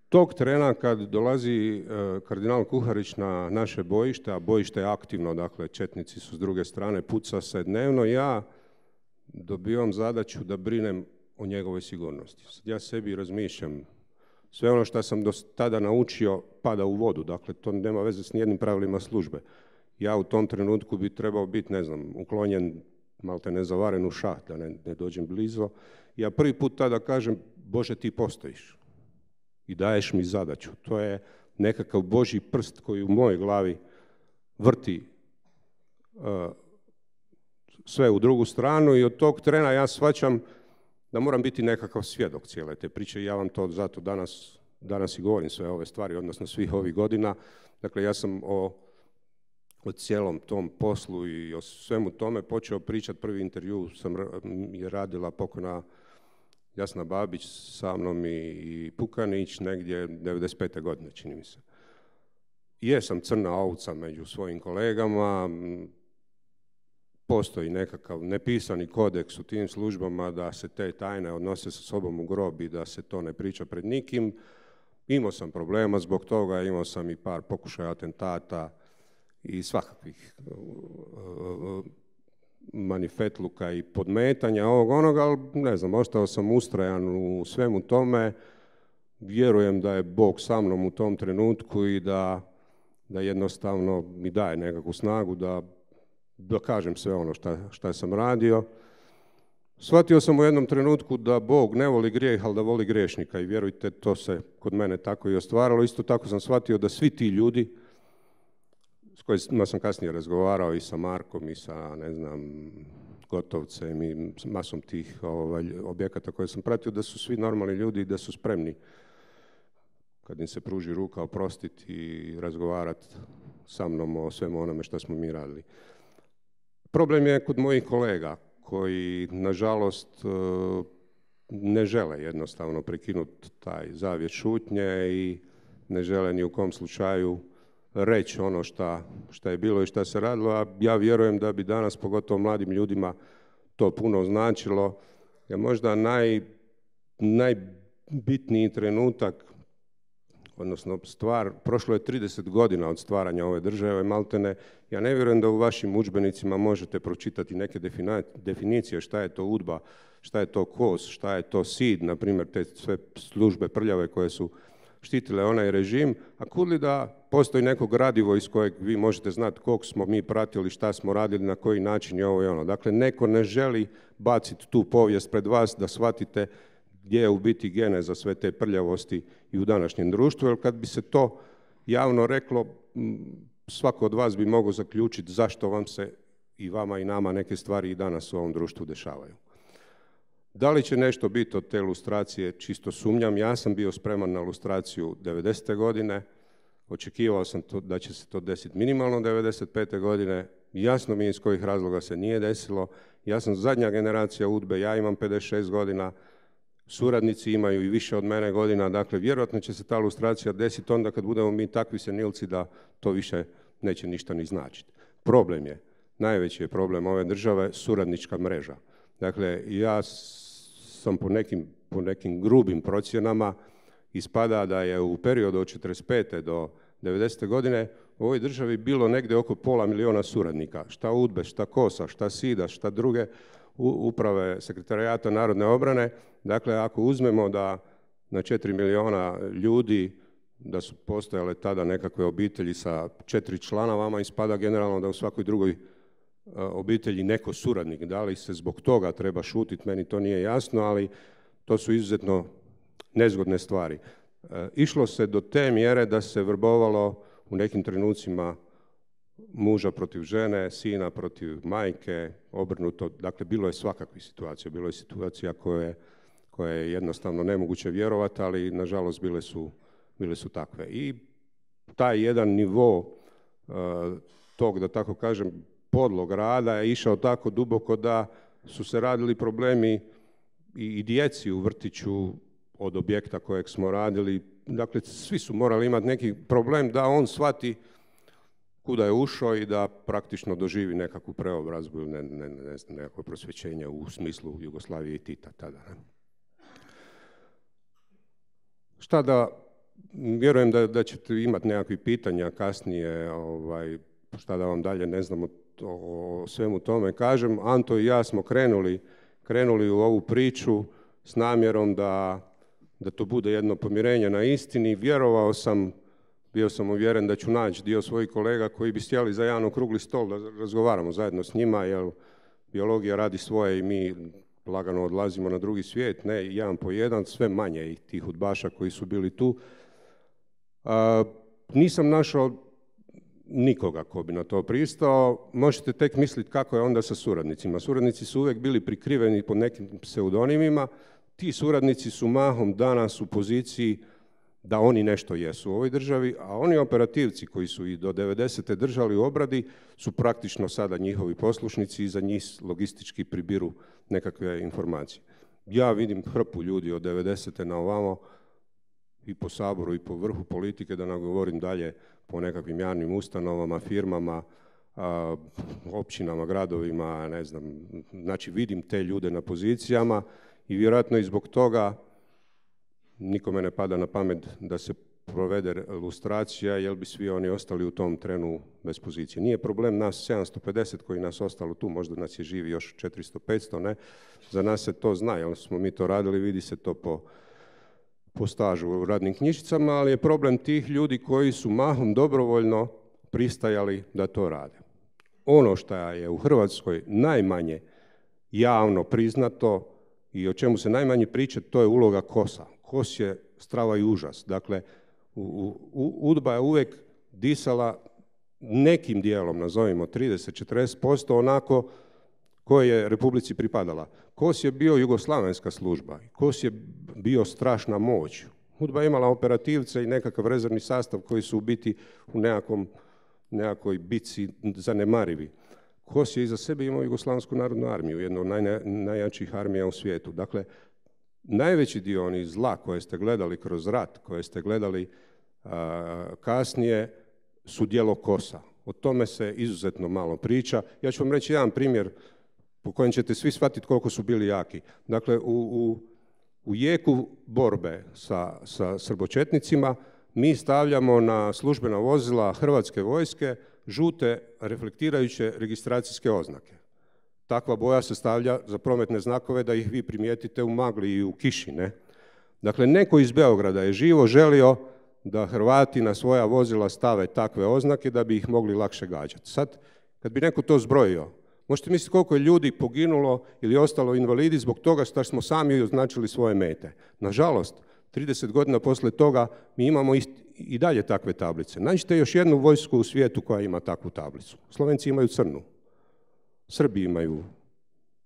Tog trena kad dolazi kardinal Kuharić na naše bojište, a bojište je aktivno, dakle četnici su s druge strane, puca se dnevno, ja dobivam zadaću da brinem o njegovoj sigurnosti. Ja sebi razmišljam, sve ono što sam do tada naučio pada u vodu, dakle to nema veze s nijednim pravilima službe. Ja u tom trenutku bi trebao biti, ne znam, uklonjen, malte ne zavaren u šaht, da ne dođem blizu. Ja prvi put tada kažem, Bože, ti postojiš i daješ mi zadaću. To je nekakav Božji prst koji u mojoj glavi vrti sve u drugu stranu i od tog trena ja shvaćam da moram biti nekakav svjedok cijele te priče i ja vam to zato danas i govorim sve ove stvari, odnosno svih ovih godina. Dakle, ja sam o cijelom tom poslu i o svemu tome počeo pričati. Prvi intervju je radila pokojna Jasna Babić sa mnom i Pukanić negdje 95. godine, čini mi se. Jesam crna ovca među svojim kolegama, postoji nekakav nepisani kodeks u tim službama da se te tajne odnose sa sobom u grob i da se to ne priča pred nikim. Imao sam problema zbog toga, imao sam i par pokušaja atentata i svakakvih manifetluka i podmetanja ovog onoga, ali ne znam, ostao sam ustrajan u svemu tome. Vjerujem da je Bog sa mnom u tom trenutku i da jednostavno mi daje nekakvu snagu da kažem sve ono šta sam radio. Shvatio sam u jednom trenutku da Bog ne voli grijeh, ali da voli griješnika i vjerujte, to se kod mene tako i ostvaralo. Isto tako sam shvatio da svi ti ljudi s kojima sam kasnije razgovarao i sa Markom i sa, ne znam, Gotovcem i masom tih objekata koje sam pratio, da su svi normalni ljudi i da su spremni kad im se pruži ruka oprostiti i razgovarati sa mnom o svemu onome što smo mi radili. Problem je kod mojih kolega koji, nažalost, ne žele jednostavno prekinuti taj zavjet šutnje i ne žele ni u kom slučaju reći ono šta je bilo i šta se radilo, a ja vjerujem da bi danas, pogotovo mladim ljudima, to puno značilo. Je možda najbitniji trenutak, odnosno stvar, prošlo je 30 godina od stvaranja ove države, maltene. Ja ne vjerujem da u vašim udžbenicima možete pročitati neke definicije šta je to UDBA, šta je to KOS, šta je to SID, na primjer te sve službe prljave koje su štitile onaj režim, a kudli da postoji neko gradivo iz kojeg vi možete znati koliko smo mi pratili, šta smo radili, na koji način je ovo i ono. Dakle, neko ne želi baciti tu povijest pred vas da shvatite gdje je u biti geneza sve te prljavosti i u današnjem društvu, jer kad bi se to javno reklo, svako od vas bi mogao zaključiti zašto vam se i vama i nama neke stvari i danas u ovom društvu dešavaju. Da li će nešto biti od te lustracije, čisto sumnjam. Ja sam bio spreman na lustraciju 90. godine, očekivao sam da će se to desiti minimalno 95. godine, jasno mi je iz kojih razloga se nije desilo. Ja sam zadnja generacija UDBE, ja imam 56 godina, suradnici imaju i više od mene godina, dakle vjerojatno će se ta lustracija desiti onda kad budemo mi takvi senilci da to više neće ništa ni značiti. Problem je, najveći je problem ove države, suradnička mreža. Dakle, ja sam po nekim grubim procjenama ispada da je u periodu od 45. do 90. godine u ovoj državi bilo negdje oko 500.000 suradnika. Šta UDBE, šta KOS-a, šta SID-a, šta druge uprave Sekretarijata narodne obrane. Dakle, ako uzmemo da na 4 milijuna ljudi, da su postojale tada nekakve obitelji sa 4 člana, vama ispada generalno da u svakoj drugoj obitelji neko suradnik. Da li se zbog toga treba šutiti, meni to nije jasno, ali to su izuzetno nezgodne stvari. Išlo se do te mjere da se vrbovalo u nekim trenucima muža protiv žene, sina protiv majke, obrnuto. Dakle, bilo je svakakvih situacija. Bilo je situacija koje je jednostavno nemoguće vjerovati, ali nažalost bile su takve. I taj jedan nivo tog, da tako kažem, podlog rada je išao tako duboko da su se radili problemi i djeci u vrtiću od objekta kojeg smo radili. Dakle, svi su morali imati neki problem da on shvati kuda je ušao i da praktično doživi nekakvu preobrazbu ili nekakvo prosvjećenje u smislu Jugoslavije i Tita tada. Šta da, vjerujem da ćete imati nekakvih pitanja kasnije, šta da vam dalje ne znam o svemu tome kažem. Anto i ja smo krenuli u ovu priču s namjerom da to bude jedno pomirenje na istini. Bio sam uvjeren da ću naći dio svojih kolega koji bi sjeli za jedan okrugli stol da razgovaramo zajedno s njima, jer biologija radi svoje i mi lagano odlazimo na drugi svijet, ne jedan po jedan, sve manje i tih udbaša koji su bili tu. Nisam našao nikoga ko bi na to pristao. Možete tek misliti kako je onda sa suradnicima. Suradnici su uvijek bili prikriveni pod nekim pseudonimima. Ti suradnici su mahom danas u poziciji da oni nešto jesu u ovoj državi, a oni operativci koji su i do 90. držali u obradi su praktično sada njihovi poslušnici i za njih logistički pribiru nekakve informacije. Ja vidim hrpu ljudi od 90. na ovamo i po Saboru i po vrhu politike, da ne govorim dalje po nekakvim javnim ustanovama, firmama, općinama, gradovima, ne znam. Znači vidim te ljude na pozicijama i vjerojatno i zbog toga nikome ne pada na pamet da se provede lustracija, jer bi svi oni ostali u tom trenu bez pozicije. Nije problem nas 750 koji nas ostalo tu, možda nas je živi još 400-500, ne? Za nas se to zna, jer smo mi to radili, vidi se to po stažu u radnim knjižicama, ali je problem tih ljudi koji su mahom dobrovoljno pristajali da to rade. Ono što je u Hrvatskoj najmanje javno priznato i o čemu se najmanje priča, to je uloga KOS-a. KOS je strava i užas. Dakle, UDBA je uvijek disala nekim dijelom, nazovimo 30-40%, onako koje je Republici pripadala. KOS je bio jugoslavenska služba, KOS je bio strašna moć. UDBA je imala operativce i nekakav rezervni sastav koji su u biti u nekakvoj bitci zanemarivi. KOS je iza sebe imao Jugoslavensku narodnu armiju, jednu od najjačih armija u svijetu. Dakle, najveći dio onih zla koje ste gledali kroz rat, koje ste gledali kasnije, su djelo KOS-a. O tome se izuzetno malo priča. Ja ću vam reći jedan primjer po kojem ćete svi shvatiti koliko su bili jaki. Dakle, u jeku borbe sa srbočetnicima mi stavljamo na službena vozila Hrvatske vojske žute reflektirajuće registracijske oznake. Takva boja se stavlja za prometne znakove da ih vi primijetite u magli i u kiši, ne? Dakle, neko iz Beograda je živo želio da Hrvati na svoja vozila stave takve oznake da bi ih mogli lakše gađati. Sad, kad bi neko to zbrojio, možete misliti koliko je ljudi poginulo ili ostalo invalidi zbog toga što smo sami označili svoje mete. Nažalost, 30 godina poslije toga mi imamo i dalje takve tablice. Nađite još jednu vojsku u svijetu koja ima takvu tablicu. Slovenci imaju crnu. Srbi imaju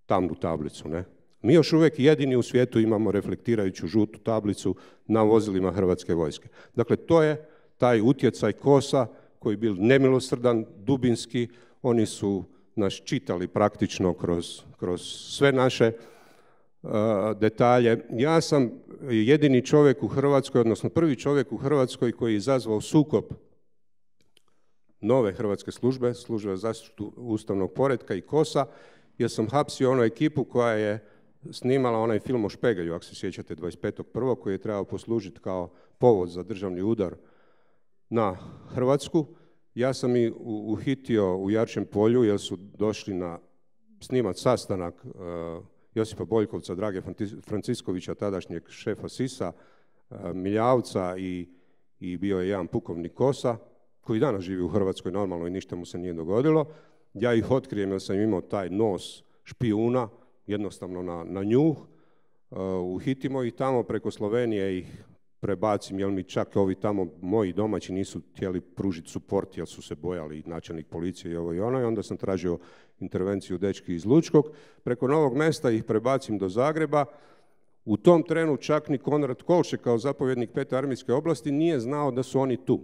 tamnu tablicu, ne? Mi još uvijek jedini u svijetu imamo reflektirajuću žutu tablicu na vozilima Hrvatske vojske. Dakle, to je taj utjecaj KOS-a koji je bil nemilosrdan, dubinski. Oni su nas čitali praktično kroz sve naše detalje. Ja sam jedini čovjek u Hrvatskoj, odnosno prvi čovjek u Hrvatskoj koji je izazvao sukob nove hrvatske službe za zaštitu ustavnog poretka i KOS-a, jer sam hapsio onu ekipu koja je snimala onaj film o Špegelju, ako se sjećate, 25.1. koji je trebao poslužiti kao povod za državni udar na Hrvatsku. Ja sam i uhitio u Jarčem polju jer su došli snimat sastanak Josipa Boljkovca, Drage Franciskovića, tadašnjeg šefa SIS-a, Miljavca i bio je jedan pukovnik KOS-a koji danas živi u Hrvatskoj normalno i ništa mu se nije dogodilo. Ja ih otkrijem jer sam imao taj nos špijuna, jednostavno na njuh, uhitimo ih tamo, preko Slovenije ih prebacim, jer mi čak ovi tamo moji domaći nisu htjeli pružiti suport jer su se bojali, načelnik policije i ovo i ono, i onda sam tražio intervenciju dečki iz Lučkog. Preko Novog Mesta ih prebacim do Zagreba. U tom trenu čak ni Konrad Kolšek kao zapovjednik 5. armijske oblasti nije znao da su oni tu.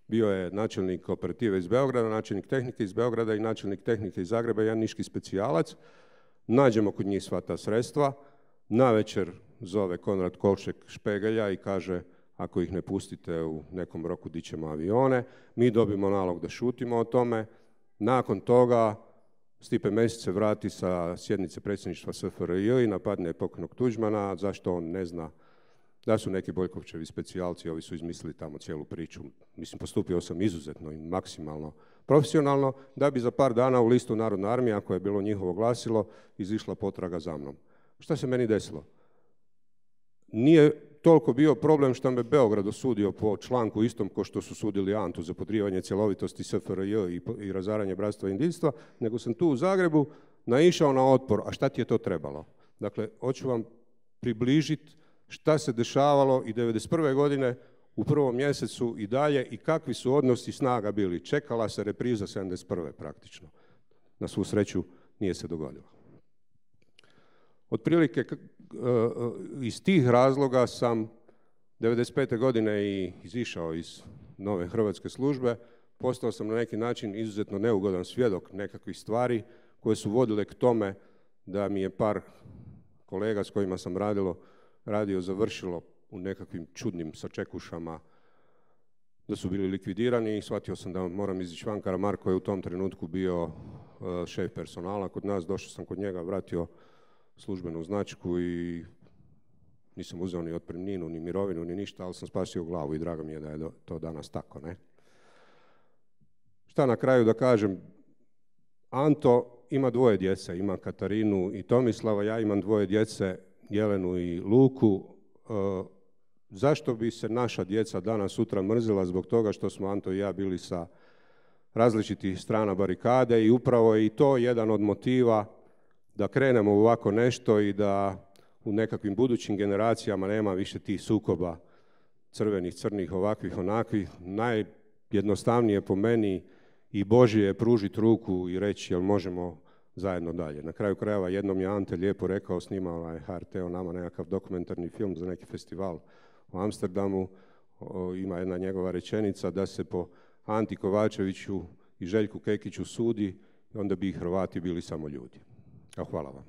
Bio je načelnik operative iz Beograda, načelnik tehnike iz Beograda i načelnik tehnike iz Zagreba, jedan niški specijalac. Nađemo kod njih sva ta sredstva. Navečer zove Konrad Kolšek Špegelja i kaže ako ih ne pustite u nekom roku dićemo avione. Mi dobimo nalog da šutimo o tome. Nakon toga Stipe Mesić se vrati sa sjednice predsjedništva SFRJ i napadne pokojnog Tuđmana, zašto on ne zna da su neki Boljkovčevi specijalci, ovi su izmislili tamo cijelu priču. Mislim, postupio sam izuzetno i maksimalno profesionalno, da bi za par dana u listu Narodna armija, koje je bilo njihovo glasilo, izišla potraga za mnom. Šta se meni desilo? Nije toliko bio problem što me Beograd osudio po članku istom ko što su sudili Antu za podrivanje cjelovitosti SFRJ i razaranje bratstva i jedinstva, nego sam tu u Zagrebu naišao na otpor. A šta ti je to trebalo? Dakle, hoću vam približiti šta se dešavalo i 1991. godine u prvom mjesecu i dalje i kakvi su odnosi snaga bili. Čekala se repriza 1971. praktično. Na svu sreću nije se dogodilo. Otprilike iz tih razloga sam 1995. godine i izišao iz nove hrvatske službe. Postao sam na neki način izuzetno neugodan svjedok nekakvih stvari koje su vodile k tome da mi je par kolega s kojima sam radio završilo u nekakvim čudnim sačekušama, da su bili likvidirani i shvatio sam da moram izići van. Karamarko je u tom trenutku bio šef personala kod nas, došao sam kod njega, vratio službenu značku i nisam uzeo ni otpremninu, ni mirovinu, ni ništa, ali sam spasio glavu i drago mi je da je to danas tako, ne? Šta na kraju da kažem? Anto ima 2 djece, ima Katarinu i Tomislava, ja imam 2 djece, Jelenu i Luku. Zašto bi se naša djeca danas sutra mrzila zbog toga što smo Anto i ja bili sa različitih strana barikade i upravo je i to jedan od motiva da krenemo u ovako nešto i da u nekakvim budućim generacijama nema više tih sukoba crvenih, crnih, ovakvih, onakvih. Najjednostavnije po meni i Božje je pružiti ruku i reći jel možemo zajedno dalje. Na kraju krajeva jednom je Ante lijepo rekao, snimao je HRT o nama nekakav dokumentarni film za neki festival u Amsterdamu. Ima jedna njegova rečenica da se po Anti Kovačeviću i Željku Kekiću sudi, onda bi i Hrvati bili samo ljudi. Hvala vam.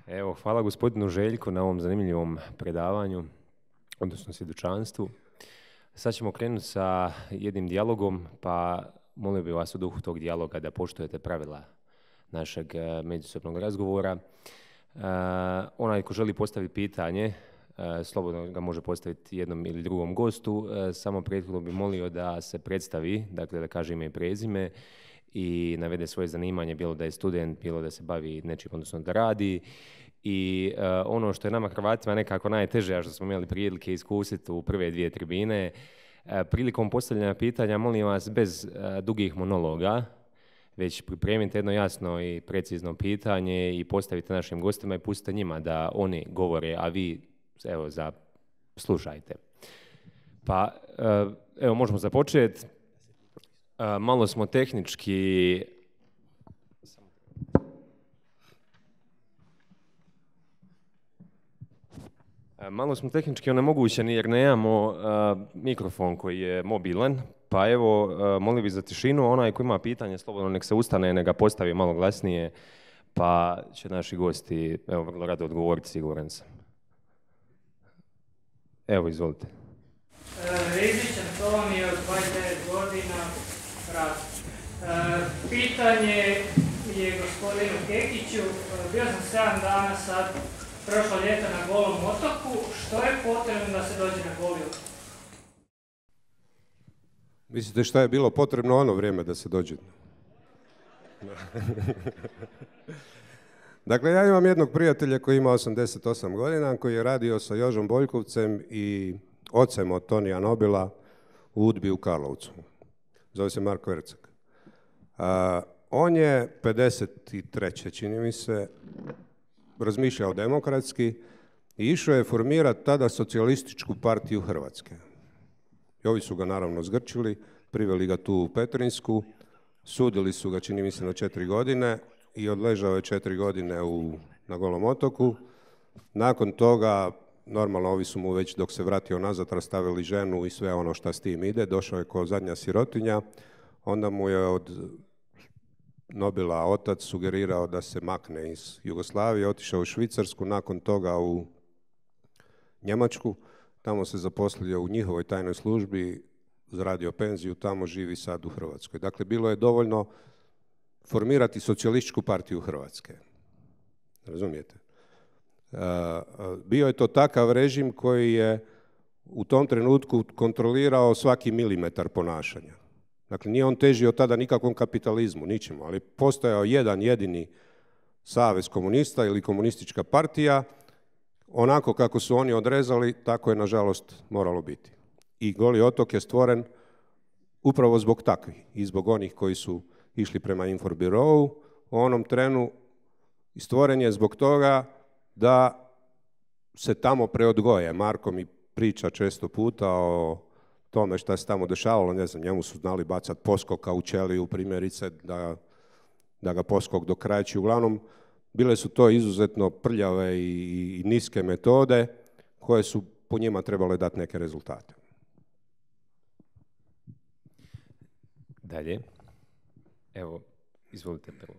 Evo, hvala gospodinu Željku na ovom zanimljivom predavanju, odnosno svjedočanstvu. Sad ćemo krenuti sa jednim dijalogom, pa molio bih vas u duhu tog dijaloga da poštujete pravila našeg međusobnog razgovora. Onaj ko želi postaviti pitanje, slobodno ga može postaviti jednom ili drugom gostu, samo prethodno bih molio da se predstavi, dakle da kaže ime i prezime i navede svoje zanimanje, bilo da je student, bilo da se bavi nečim, odnosno da radi. I ono što je nama Hrvatima nekako najteže, a što smo imali prilike iskusiti u prve 2 tribine, prilikom postavljanja pitanja, molim vas, bez dugih monologa, već pripremite jedno jasno i precizno pitanje i postavite našim gostima i pustite njima da oni govore, a vi, evo, slušajte. Pa, evo, možemo započeti. Malo smo tehnički... Malo smo tehnički onemogućeni jer nemamo mikrofon koji je mobilan, pa evo, molim bih za tišinu, onaj koji ima pitanje, slobodno nek se ustane, nek ga postavi malo glasnije, pa će naši gosti, evo, vrlo rado odgovoriti, siguran sam. Evo, izvolite. Rizičan Tomi od 29 godina, rad. Pitanje je gospodinu Kekiću, bio sam 7 dana sad, prošlo ljeto na Golom otoku, što je potrebno da se dođe na Goli otok? Mislite šta je bilo potrebno ono vrijeme da se dođe? Dakle, ja imam jednog prijatelja koji ima 88 godina, koji je radio sa Jožom Boljkovcem i ocem od Tonija Nobila u UDBI u Karlovcu. Zove se Marko Erceg. On je 53. čini mi se, razmišljao demokratski i išao je formirati tada socijalističku partiju Hrvatske. I ovi su ga naravno zgrčili, priveli ga tu u Petrinjsku, sudili su ga, čini mi se, na 4 godine i odležao je 4 godine na Golom otoku. Nakon toga, normalno, ovi su mu već dok se vratio nazad rastavili ženu i sve ono što s tim ide. Došao je kao zadnja sirotinja. Onda mu je od Nobila otac sugerirao da se makne iz Jugoslavije, otišao u Švicarsku, nakon toga u Njemačku. Tamo se zaposlio u njihovoj tajnoj službi, zaradio penziju, tamo živi sad u Hrvatskoj. Dakle, bilo je dovoljno formirati socijalističku partiju Hrvatske. Razumijete? Bio je to takav režim koji je u tom trenutku kontrolirao svaki milimetar ponašanja. Dakle, nije on težio tada nikakvom kapitalizmu, ničemu, ali postojao jedan jedini savez komunista ili komunistička partija. Onako kako su oni odrezali, tako je nažalost moralo biti. I Goli otok je stvoren upravo zbog takvih i zbog onih koji su išli prema Inforbirovu u onom trenu. I stvoren je zbog toga da se tamo preodgoje. Marko mi priča često puta o tome šta se tamo dešavalo, ne znam, njemu su znali bacati poskoka u ćeliju, primjerice, da ga poskok dokrajči. Uglavnom, bile su to izuzetno prljave i niske metode koje su po njima trebale dati neke rezultate. Dalje. Evo, izvolite prvo.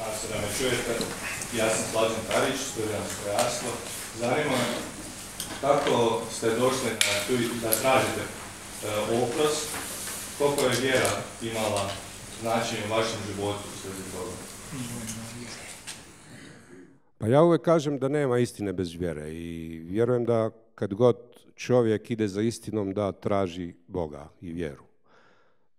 Ako se da me čujete, ja sam Slađan Tarić, student strojarstva. Zanima me kako ste došli na tu da tražite oprost, koliko je vjera imala značenje u vašem životu u svezi toga? Pa ja uvijek kažem da nema istine bez vjere i vjerujem da kad god čovjek ide za istinom da traži Boga i vjeru.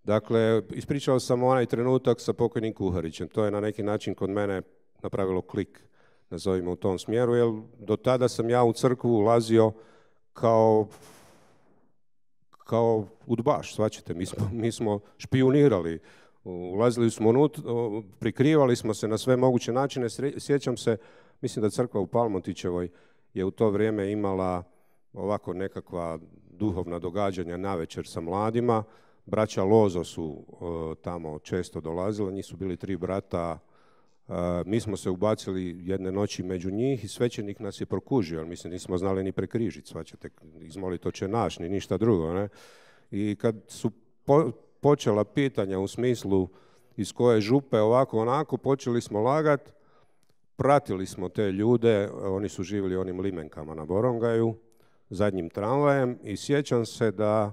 Dakle, ispričao sam onaj trenutak sa pokojnim Kuharićem. To je na neki način kod mene napravilo klik, nazovimo u tom smjeru, jer do tada sam ja u crkvu ulazio kao udbaš, shvaćate, mi smo špijunirali, ulazili smo unutra, prikrivali smo se na sve moguće načine. Sjećam se, mislim da crkva u Palmotićevoj je u to vrijeme imala ovako nekakva duhovna događanja navečer sa mladima. Braća Lozo su tamo često dolazila, njih su bili 3 brata. Mi smo se ubacili jedne noći među njih i svećenik nas je prokužio, jer mislim nismo znali ni prekrižiti, svaćate, izmolit oče naš, ni ništa drugo. Ne? I kad su počela pitanja u smislu iz koje župe, ovako, onako, počeli smo lagat, pratili smo te ljude, oni su živjeli onim limenkama na Borongaju, zadnjim tramvajem i sjećam se da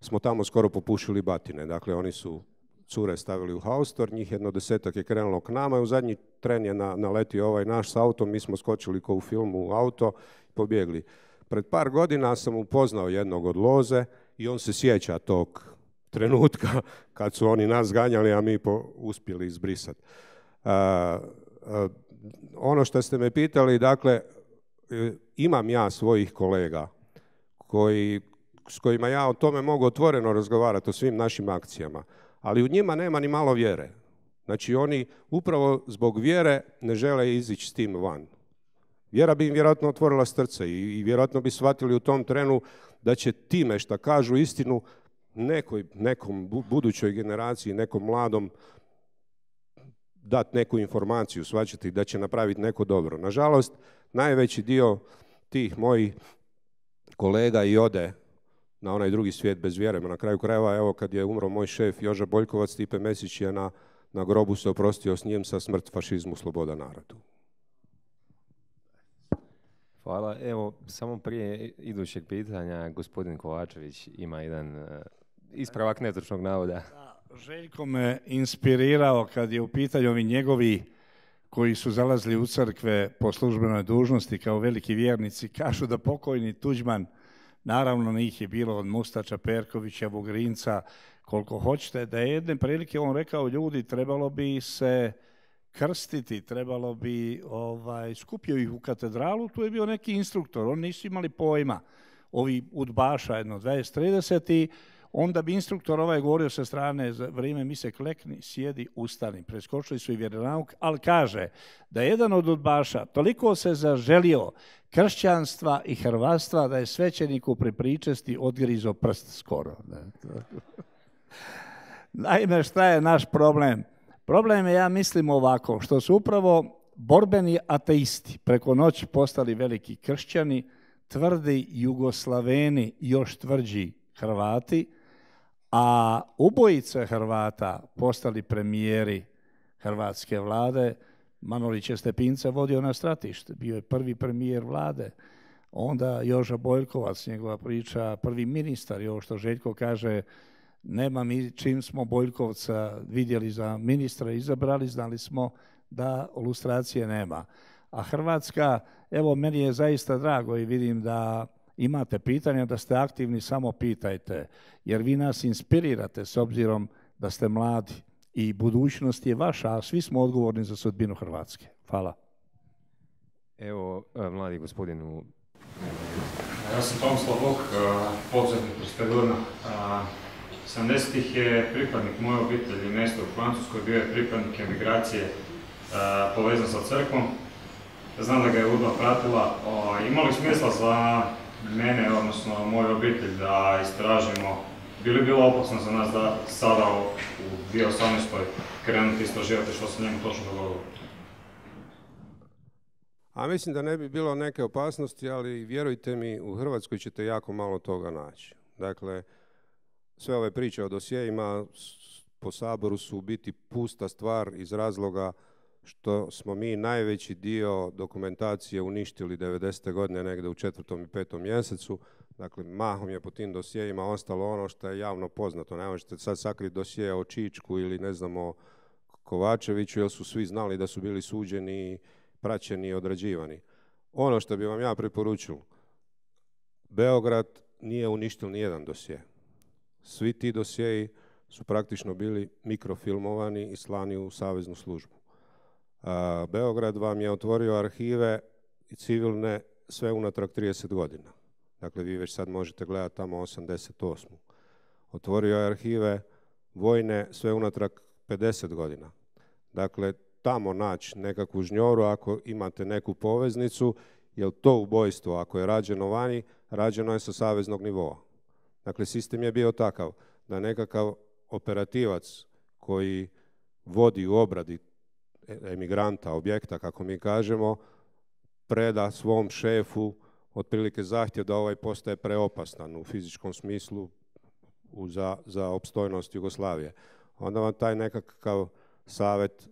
smo tamo skoro popušili batine. Dakle, oni su cure stavili u haustor, njih jedno 10-ak je krenulo k nama i u zadnji tren je naletio ovaj naš s autom, mi smo skočili kao u filmu u auto i pobjegli. Pred par godina sam upoznao jednog od Loze i on se sjeća trenutka kad su oni nas ganjali, a mi uspjeli izbrisati. Ono što ste me pitali, dakle, imam ja svojih kolega s kojima ja o tome mogu otvoreno razgovarati o svim našim akcijama, ali u njima nema ni malo vjere. Znači oni upravo zbog vjere ne žele izići s tim van. Vjera bi im vjerojatno otvorila srce i vjerojatno bi shvatili u tom trenu da će time što kažu istinu nekom budućoj generaciji, nekom mladom dati neku informaciju, shvaćati da će napraviti neko dobro. Nažalost, najveći dio tih mojih kolega i ode na onaj drugi svijet bez vjere. Na kraju krajeva, evo kad je umro moj šef Joža Boljkovac, Stipe Mesić je na grobu se oprostio s njim sa smrt fašizmu, sloboda narodu. Hvala. Evo, samo prije idućeg pitanja, gospodin Kovačević ima jedan ispravak netočnog navoda. Željko me inspirirao kad je u pitanju ovi njegovi koji su zalazili u crkve po službenoj dužnosti kao veliki vjernici, kažu da pokojni Tuđman, naravno njih je bilo od Mustača, Perkovića, Vugrinca, koliko hoćete, da je jedne prilike on rekao, ljudi, trebalo bi se krstiti, trebalo bi, skupio ih u katedralu, tu je bio neki instruktor, oni nisu imali pojma, ovi udbaša, jedno 20-30 i onda bi instruktor govorio sa strane, za vrijeme mise klekni, sjedi, ustani. Preskočili su i vjeronauk, ali kaže da je jedan od udbaša toliko se zaželio kršćanstva i hrvatstva da je svećeniku pri pričesti odgrizo prst skoro. Naime, šta je naš problem? Problem je, ja mislim ovako, što su upravo borbeni ateisti preko noći postali veliki kršćani, tvrdi Jugoslaveni, još tvrđi Hrvati, a ubojice Hrvata postali premijeri hrvatske vlade. Manolić je Stepinca vodio na stratište, bio je prvi premijer vlade. Onda Joža Boljkovac, njegova priča, prvi ministar, i ovo što Željko kaže, nema mi, čim smo Boljkovca vidjeli za ministra izabrali, znali smo da lustracije nema. A Hrvatska, evo, meni je zaista drago i vidim da imate pitanja, da ste aktivni, samo pitajte, jer vi nas inspirirate s obzirom da ste mladi i budućnost je vaša, a svi smo odgovorni za sudbinu Hrvatske. Hvala. Evo, mladi gospodinu. Ja sam Tomislav Vuk, poduzetnik iz Pedurna. 70-ih je pripadnik moje obitelji, mjesto u Francuskoj, bio je pripadnik emigracije povezan sa crkvom. Znam da ga je UDBA pratila. Imali smisla za mene, odnosno moju obitelj, da istražimo, bi li bilo opasno za nas da sada u 2018. krenuti istraživati što se njemu točno dogodilo? A mislim da ne bi bilo neke opasnosti, ali vjerujte mi, u Hrvatskoj ćete jako malo toga naći. Dakle, sve ove priče o dosjejima po Saboru su u biti pusta stvar iz razloga što smo mi najveći dio dokumentacije uništili 90. godine negdje u 4. i 5. mjesecu. Dakle, mahom je po tim dosjejima ostalo ono što je javno poznato. Ne možete sad sakriti dosje o Čičku ili ne znam o Kovačeviću, jer su svi znali da su bili suđeni, praćeni i odrađivani. Ono što bi vam ja preporučio, Beograd nije uništio nijedan dosje. Svi ti dosjeji su praktično bili mikrofilmovani i slani u saveznu službu. Beograd vam je otvorio arhive i civilne sve unatrag 30 godina. Dakle, vi već sad možete gledati tamo 88. Otvorio je arhive vojne sve unatrag 50 godina. Dakle, tamo naći nekakvu žnjoru ako imate neku poveznicu, jer to ubojstvo, ako je rađeno vani, rađeno je sa saveznog nivoa. Dakle, sistem je bio takav da nekakav operativac koji vodi u obradi emigranta, objekta, kako mi kažemo, preda svom šefu otprilike zahtjev da ovaj postaje preopasan u fizičkom smislu za opstojnost Jugoslavije. Onda vam taj nekakav savjet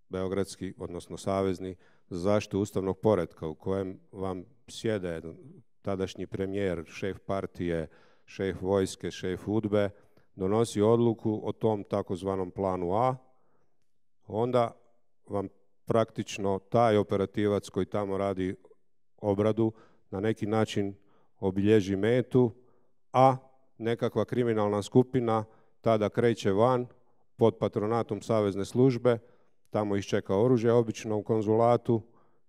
beogradski, odnosno savezni, za zaštitu ustavnog poretka u kojem vam sjede tadašnji premijer, šef partije, šef vojske, šef UDBE, donosi odluku o tom takozvanom planu A, onda vam praktično taj operativac koji tamo radi obradu na neki način obilježi metu, a nekakva kriminalna skupina tada kreće van pod patronatom savezne službe, tamo ih čeka oružje obično u konzulatu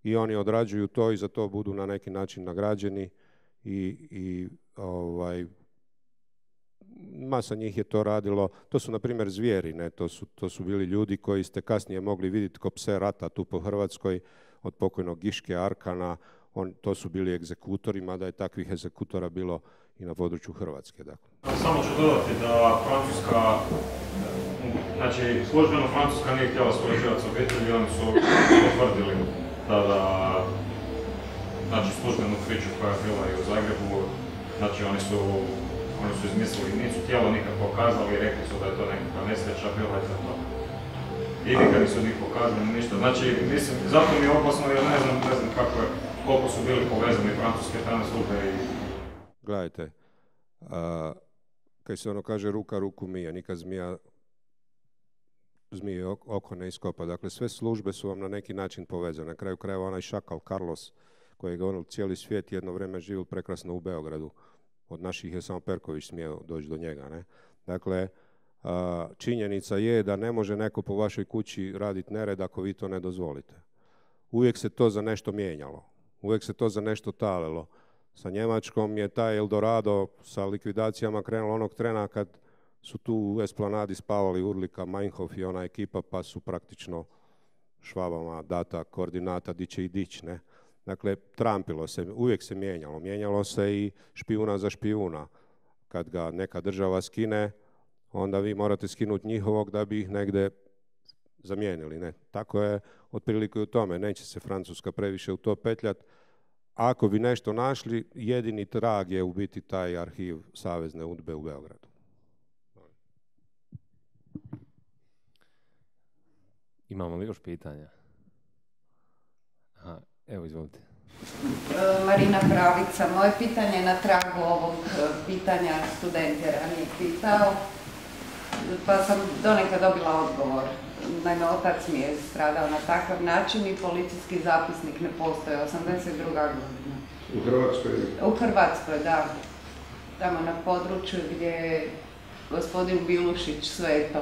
i oni odrađuju to i za to budu na neki način nagrađeni i masa njih je to radilo. To su, na primjer, zvijeri, ne? To su bili ljudi koji ste kasnije mogli vidjeti ko pse rata tu po Hrvatskoj, od pokojnog Giške Arkana. To su bili egzekutori, mada je takvih egzekutora bilo i na području Hrvatske. Dakle. Samo ću dodati da Francuska, znači službeno Francuska nije htjela surađivati s obitelji, oni su potvrdili tada, znači službenu priču koja je bila i u Zagrebu, znači oni su izmislili, nisu tijelo nikad pokazali i rekli su da je to nekakva nesreća bila i za to. I nikad nisu njih pokazali ništa. Znači, mislim, zato mi je opasno jer ne znam koliko su bili povezani francuske tajne službe i... Gledajte, kad se ono kaže ruka ruku mije, nikad zmije oko ne iskopa. Dakle, sve službe su vam na neki način povezane. Na kraju krajeva onaj šakal Carlos, koji je govoril cijeli svijet, jedno vrijeme živio prekrasno u Beogradu. Od naših je samo Perković smio doći do njega. Ne? Dakle, činjenica je da ne može neko po vašoj kući raditi nered ako vi to ne dozvolite. Uvijek se to za nešto mijenjalo. Uvijek se to za nešto talilo. Sa Njemačkom je taj Eldorado sa likvidacijama krenulo onog trena kad su tu u Esplanadi spavali Urlika, Meinhof i ona ekipa, pa su praktično Švabama data koordinata di će i dić, ne? Dakle, trampilo se, uvijek se mijenjalo. Mijenjalo se i špijuna za špijuna. Kad ga neka država skine, onda vi morate skinuti njihovog da bi ih negdje zamijenili. Ne? Tako je otprilike u tome. Neće se Francuska previše u to petljati. Ako bi nešto našli, jedini trag je u biti taj arhiv Savezne UDBE u Beogradu. Imamo li još pitanja? Aha, evo, izvolite. Marina Pravica, moje pitanje je na tragu ovog pitanja student je ranije pitao, pa sam donekad dobila odgovor. Naime, otac mi je stradao na takav način i policijski zapisnik ne postoje, 82. godina. U Hrvatskoj? U Hrvatskoj, da. Tamo na području gdje je gospodin Bilušić sveto.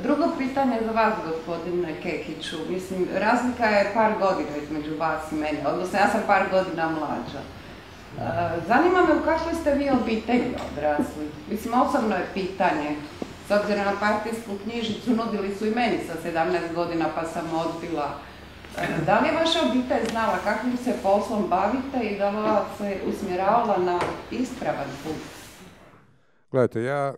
Drugo pitanje za vas, gospodine Kekiću. Mislim, razlika je par godina između vas i mene, odnosno ja sam par godina mlađa. Zanima me u kakvoj ste vi obitelji odrasli. Mislim, osobno je pitanje. S obzirom na partijsku knjižicu nudili su i meni sa 17 godina pa sam odbila. Da li je vaša obitelj znala kakvim se poslom bavite i da li vas se usmjeravala na ispravan put? Gledajte, ja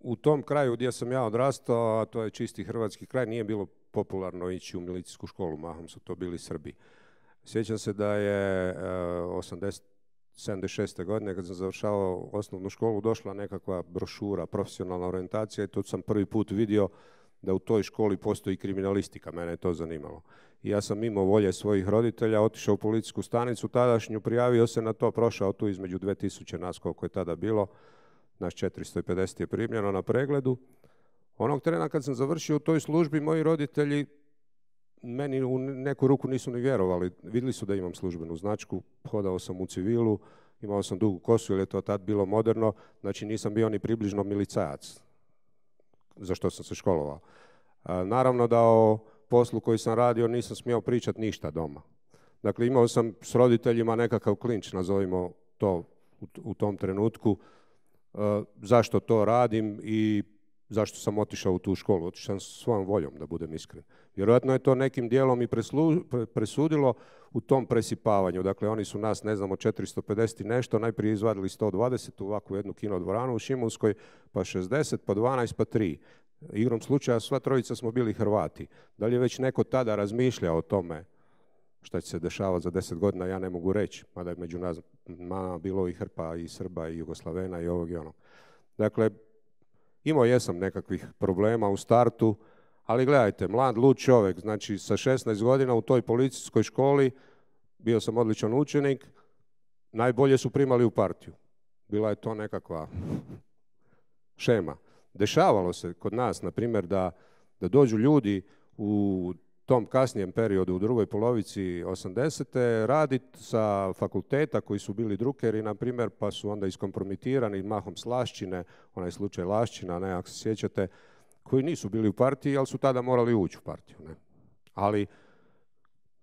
u tom kraju gdje sam ja odrastao, a to je čisti hrvatski kraj, nije bilo popularno ići u milicijsku školu, mahom su to bili Srbi. Sjećam se da je 76. godine, kad sam završavao osnovnu školu, došla nekakva brošura, profesionalna orijentacija i tu sam prvi put vidio da u toj školi postoji kriminalistika, mene je to zanimalo. I ja sam mimo volje svojih roditelja otišao u policijsku stanicu tadašnju, prijavio se na to, prošao tu između 2000 nas koliko je tada bilo, nas 450 je primljeno na pregledu. Onog trena kad sam završio u toj službi, moji roditelji meni u neku ruku nisu ni vjerovali. Vidjeli su da imam službenu značku, hodao sam u civilu, imao sam dugu kosu jer je to tad bilo moderno, znači nisam bio ni približno milicajac, za što sam se školovao. Naravno da o poslu koji sam radio nisam smio pričati ništa doma. Dakle, imao sam s roditeljima nekakav klinč, nazovimo to u tom trenutku, zašto to radim i zašto sam otišao u tu školu. Otišao sam svojom voljom, da budem iskren. Vjerojatno je to nekim dijelom i presudilo u tom presipavanju. Dakle, oni su nas, ne znamo, 450 i nešto, najprije izvadili 120 u ovakvu jednu kinodvoranu u Šimunskoj, pa 60, pa 12, pa 3. Igrom slučaja sva trojica smo bili Hrvati. Da li je već neko tada razmišljao o tome šta će se dešavati za 10 godina, ja ne mogu reći. Mada je među nas bilo i hrpa i Srba i Jugoslavena i ovog i onog. Dakle, imao jesam nekakvih problema u startu, ali gledajte, mlad, lud čovjek, znači sa 16 godina u toj policijskoj školi, bio sam odličan učenik, najbolje su primali u partiju. Bila je to nekakva šema. Dešavalo se kod nas, na primjer, da dođu ljudi u tom kasnijem periodu, u drugoj polovici 80. raditi sa fakulteta koji su bili drukeri, na primjer, pa su onda iskompromitirani mahom s Lašćine, onaj slučaj Lašćina, ne, ako se sjećate, koji nisu bili u partiji, ali su tada morali ući u partiju. Ne? Ali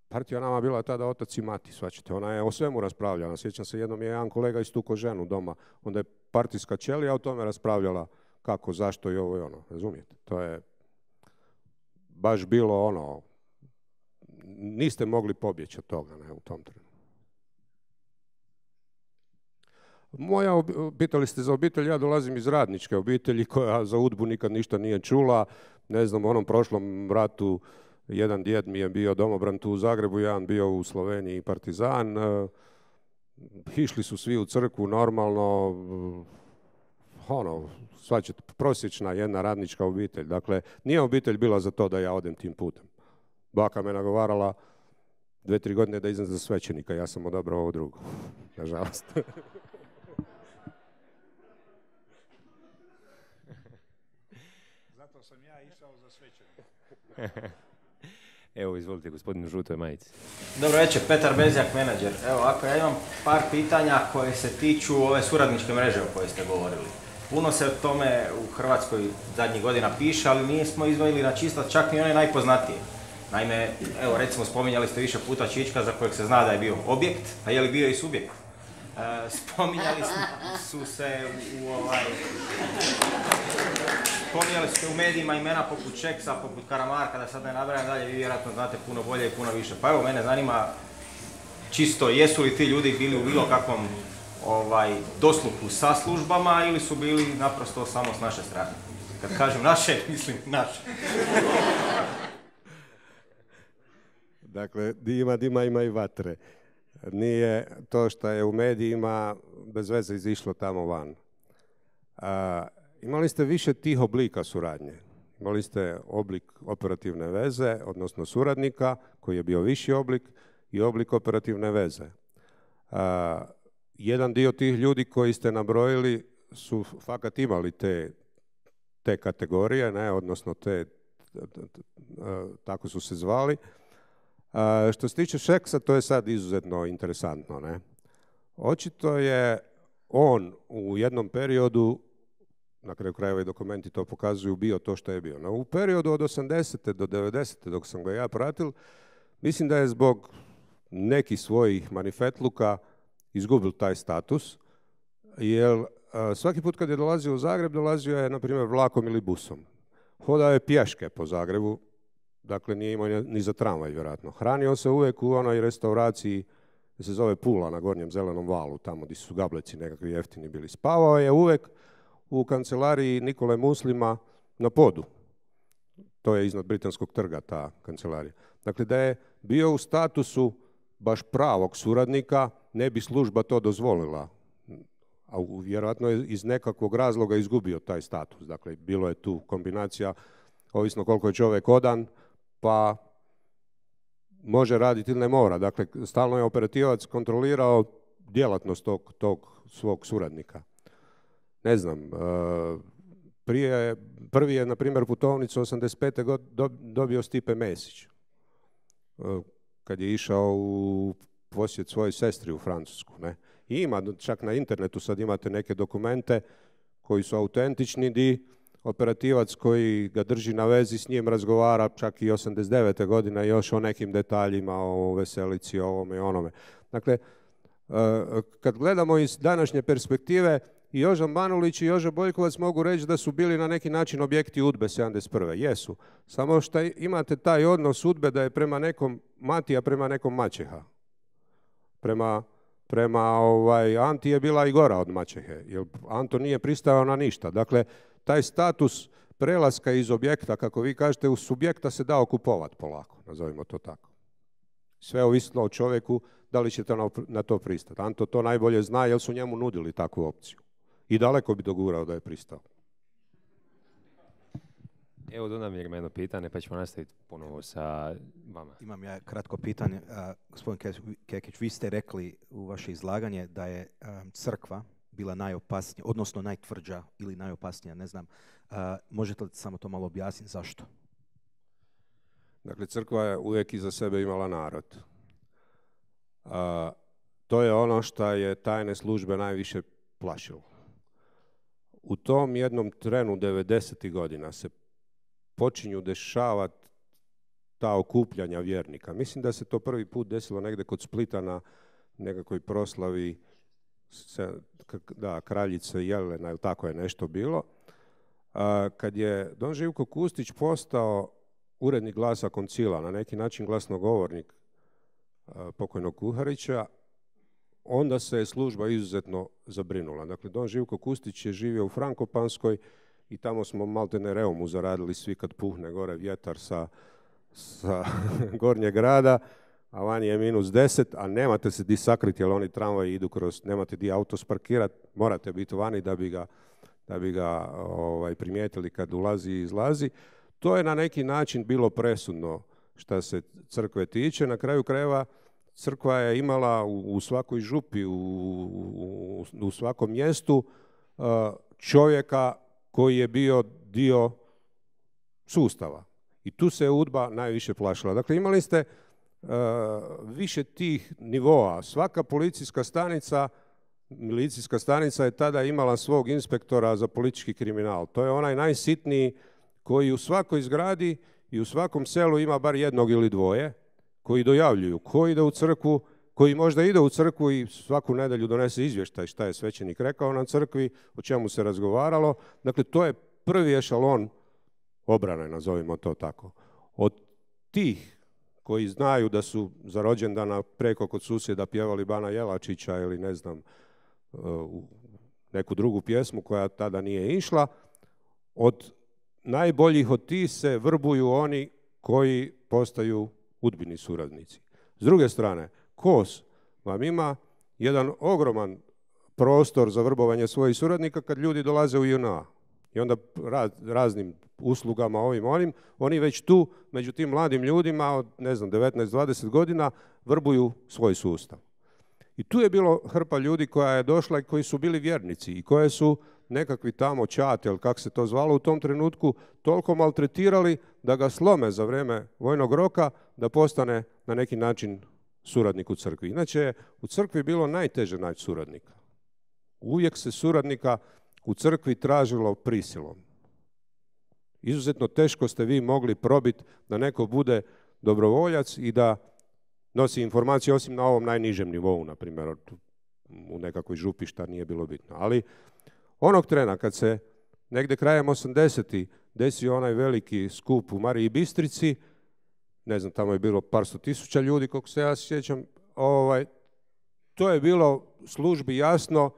partija nama bila tada otac i mati, svačate. Ona je o svemu raspravljala. Sjećam se, jednom je jedan kolega istukao ženu doma. Onda je partijska ćelija o tome raspravljala kako, zašto i ovo i ono. Razumijete? To je baš bilo ono, niste mogli pobjeći od toga, ne, u tom trenutku. Pitali ste za obitelj, ja dolazim iz radničke obitelji koja za UDBU nikad ništa nije čula. Ne znam, u onom prošlom ratu jedan djed mi je bio domobran tu u Zagrebu, jedan bio u Sloveniji partizan. Išli su svi u crkvu normalno, ono, svačet, prosječna jedna radnička obitelj. Dakle, nije obitelj bila za to da ja odem tim putem. Baka me nagovarala 2-3 godine da idem za svećenika, ja sam odabrao ovo drugo, nažalost. Zato sam ja išao za svećenika. Evo, izvolite, gospodin u žutoj majici. Dobro večer, Petar Bezjak, menadžer. Evo, ako ja imam par pitanja koje se tiču ove suradničke mreže o kojoj ste govorili. Puno se o tome u Hrvatskoj zadnjih godina piše, ali nismo izdvojili na čistac čak ni one najpoznatije. Naime, evo recimo spominjali ste više puta Čička za kojeg se zna da je bio objekt, a je li bio i subjekt? Spominjali su se spominjali su u medijima imena poput Šeksa, poput Karamarka, da sad ne nabrajam dalje, vi vjerojatno znate puno bolje i puno više. Pa evo, mene zanima čisto, jesu li ti ljudi bili u bilo kakvom dosluhu sa službama ili su bili naprosto samo s naše strane? Kad kažem naše, mislim naše. Dakle, dima ima i vatre. Nije to što je u medijima bez veze izišlo tamo van. Imali ste više tih oblika suradnje. Imali ste oblik operativne veze, odnosno suradnika, koji je bio viši oblik, i oblik operativne veze. Jedan dio tih ljudi koji ste nabrojili su fakat imali te kategorije, ne, odnosno tako su se zvali. Što se tiče Šeksa, to je sad izuzetno interesantno. Ne? Očito je on u jednom periodu, na kraju krajeva i dokumenti to pokazuju, bio to što je bio. No, u periodu od 80. do 90. dok sam ga ja pratil, mislim da je zbog nekih svojih manifetluka izgubil taj status, jer svaki put kad je dolazio u Zagreb, dolazio je, na primjer, vlakom ili busom. Hodao je pješke po Zagrebu, dakle nije imao ni za tramvaj, vjerojatno. Hranio se uvijek u onoj restauraciji, koja se zove Pula, na Gornjem Zelenom valu, tamo gdje su gableci nekakvi jeftini bili. Spavao je uvijek u kancelariji Nikole Muslima na Podu. To je iznad Britanskog trga, ta kancelarija. Dakle, da je bio u statusu baš pravog suradnika, ne bi služba to dozvolila. A vjerojatno je iz nekakvog razloga izgubio taj status. Dakle, bilo je tu kombinacija, ovisno koliko je čovjek odan, pa može raditi ili ne mora. Dakle, stalno je operativac kontrolirao djelatnost tog svog suradnika. Ne znam, prvi je, na primjer, putovnicu 85. dobio Stipe Mesić, kad je išao u posjet svojoj sestri u Francusku. Ne? I ima, čak na internetu sad imate neke dokumente koji su autentični, di operativac koji ga drži na vezi s njim razgovara čak i 89. godine još o nekim detaljima, o veselici, o ovome i onome. Dakle, kad gledamo iz današnje perspektive, i Joža Manulić i Joža Boljkovac mogu reći da su bili na neki način objekti UDBE 71. Jesu. Samo što imate taj odnos UDBE da je prema nekom mati, a prema nekom maćeha. Prema Anti je bila i gora od maćehe, jer Anto nije pristao na ništa. Dakle, taj status prelaska iz objekta, kako vi kažete, u subjekta se dao kupovati polako, nazovimo to tako. Sve ovisno o čovjeku da li ćete na to pristati. Anto to najbolje zna jer su njemu nudili takvu opciju. I daleko bi dogurao da je pristao. Evo, Dunamir ima jedno pitanje, pa ćemo nastaviti ponovo sa vama. Imam ja kratko pitanje. Gospodin Kekić, vi ste rekli u vaše izlaganje da je crkva bila najopasnija, odnosno najtvrđa ili najopasnija, ne znam. Možete li samo to malo objasniti zašto? Dakle, crkva je uvijek iza sebe imala narod. To je ono što je tajne službe najviše plašilo. U tom jednom trenu 90. godina se počinju dešavati ta okupljanja vjernika. Mislim da se to prvi put desilo negdje kod Splita na nekakvoj proslavi kraljice Jelena, ili tako je nešto bilo. Kad je don Živko Kustić postao urednik Glasa koncila, na neki način glasnogovornik pokojnog Kuharića, onda se je služba izuzetno zabrinula. Dakle, don Živko Kustić je živio u Frankopanskoj i tamo smo maltene reumu zaradili svi kad puhne gore vjetar sa gornjeg grada, a vani je -10, a nemate se di sakriti, jer oni tramvaji idu kroz, nemate di auto sparkirati, morate biti vani da bi ga primijetili kad ulazi i izlazi. To je na neki način bilo presudno što se crkve tiče. Na kraju krajeva crkva je imala u svakoj župi, u svakom mjestu čovjeka koji je bio dio sustava. I tu se UDBA najviše plašila. Dakle, imali ste više tih nivoa. Svaka policijska stanica, milicijska stanica je tada imala svog inspektora za politički kriminal. To je onaj najsitniji koji u svakoj zgradi i u svakom selu ima bar jednog ili dvoje koji dojavljuju, koji ide u crkvu, koji možda ide u crkvu i svaku nedjelju donese izvještaj šta je svećenik rekao na crkvi, o čemu se razgovaralo. Dakle, to je prvi ešalon obrane, nazovimo to tako. Od tih koji znaju da su za rođendana preko kod susjeda pjevali Bana Jelačića ili ne znam, neku drugu pjesmu koja tada nije išla, od najboljih od tih se vrbuju oni koji postaju udbini suradnici. S druge strane, KOS vam ima jedan ogroman prostor za vrbovanje svojih suradnika kad ljudi dolaze u JNA. I onda raznim uslugama onim, oni već tu među tim mladim ljudima od, 19-20 godina vrbuju svoj sustav. I tu je bilo hrpa ljudi koja je došla i koji su bili vjernici i koje su nekakvi tamo čate, ili kako se to zvalo u tom trenutku, toliko maltretirali da ga slome za vrijeme vojnog roka da postane na neki način suradnik u crkvi. Inače je u crkvi bilo najteže naći suradnika. Uvijek se suradnika u crkvi tražilo prisilom. Izuzetno teško ste vi mogli probiti da neko bude dobrovoljac i da nosi informacije, osim na ovom najnižem nivou, na primjer, u nekakvoj župi, šta nije bilo bitno. Ali onog trena kad se negdje krajem 80-ih desio onaj veliki skup u Mariji Bistrici, ne znam, tamo je bilo par sto tisuća ljudi, koliko se ja sjećam, to je bilo službi jasno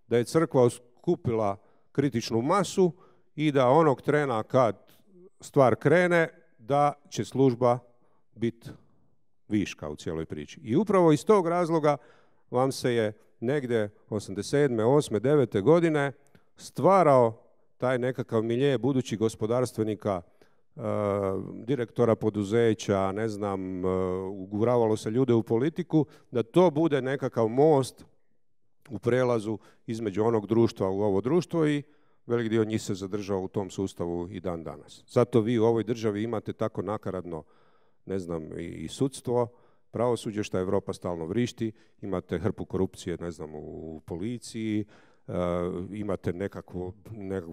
da je crkva skupila kritičnu masu i da onog trena kad stvar krene, da će služba biti viška u cijeloj priči. I upravo iz tog razloga vam se je negdje 87. 8. 9. godine stvarao taj nekakav milje budućih gospodarstvenika, direktora poduzeća, ne znam, uguravalo se ljude u politiku, da to bude nekakav most u prelazu između onog društva u ovo društvo i velik dio njih se zadržao u tom sustavu i dan danas. Zato vi u ovoj državi imate tako nakaradno, ne znam, i sudstvo, pravosuđe što Europa stalno vrišti, imate hrpu korupcije, ne znam, u policiji, imate nekakvu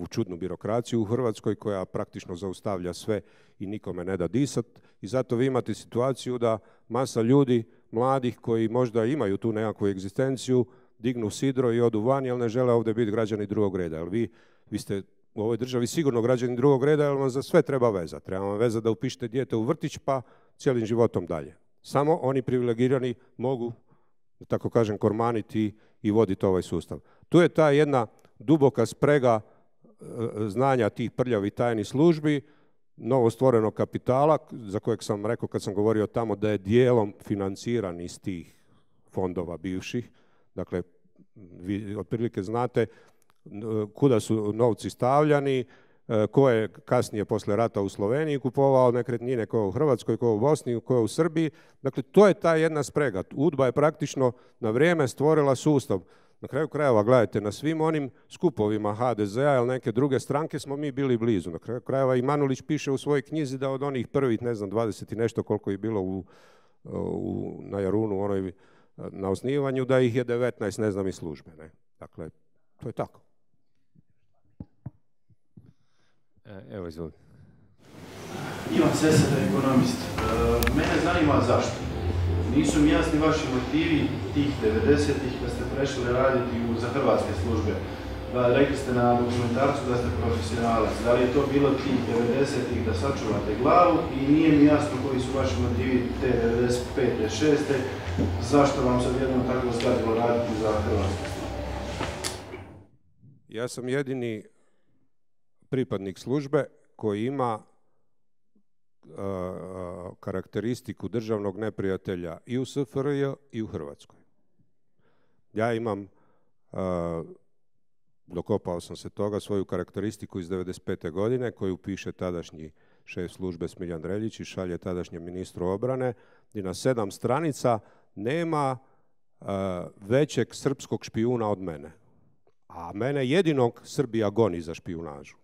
čudnu birokraciju u Hrvatskoj koja praktično zaustavlja sve i nikome ne da disat. I zato vi imate situaciju da masa ljudi, mladih koji možda imaju tu nekakvu egzistenciju, dignu sidro i odu van, jer ne žele ovdje biti građani drugog reda. Jer vi ste u ovoj državi sigurno građani drugog reda, jer vam za sve treba veza. Treba vam veza da upišete dijete u vrtić, pa cijelim životom dalje. Samo oni privilegirani mogu, da tako kažem, kormaniti i voditi ovaj sustav. Tu je ta jedna duboka sprega znanja tih prljavih tajnih službi, novo stvorenog kapitala, za kojeg sam rekao kad sam govorio tamo da je dijelom financiran iz tih fondova bivših. Dakle, vi otprilike znate kuda su novci stavljani, ko je kasnije posle rata u Sloveniji kupovao nekretnine, ko je u Hrvatskoj, ko je u Bosni, ko je u Srbiji. Dakle, to je ta jedna sprega. UDBA je praktično na vrijeme stvorila sustav Na kraju krajeva, gledajte, na svim onim skupovima HDZ-a ili neke druge stranke smo mi bili blizu. Na kraju krajeva i Manulić piše u svojoj knjizi da od onih prvih, ne znam, 20 i nešto koliko je bilo na Jarunu, na osnivanju, da ih je 19, ne znam, iz službe. Ne? Dakle, to je tako. Evo, izvolite. Ivan Sesada, ekonomist. Mene zanima zašto. Nisu mi jasni vaši motivi tih 90-ih kad ste prešli raditi za hrvatske službe. Rekli ste na dokumentarcu da ste profesionalac. Da li je to bilo tih 90-ih da sačuvate glavu i nije mi jasno koji su vaši motivi te 95. 6. Zašto vam sad jednom tako zgadilo raditi za hrvatske službe? Ja sam jedini pripadnik službe koji ima karakteristiku državnog neprijatelja i u SFRJ i u Hrvatskoj. Ja imam, dokopao sam se toga, svoju karakteristiku iz 95. godine koju piše tadašnji šef službe Smiljan Dreljić i šalje tadašnjem ministru obrane, gdje na 7 stranica nema većeg srpskog špijuna od mene. A mene jedinog Srbija goni za špijunažu.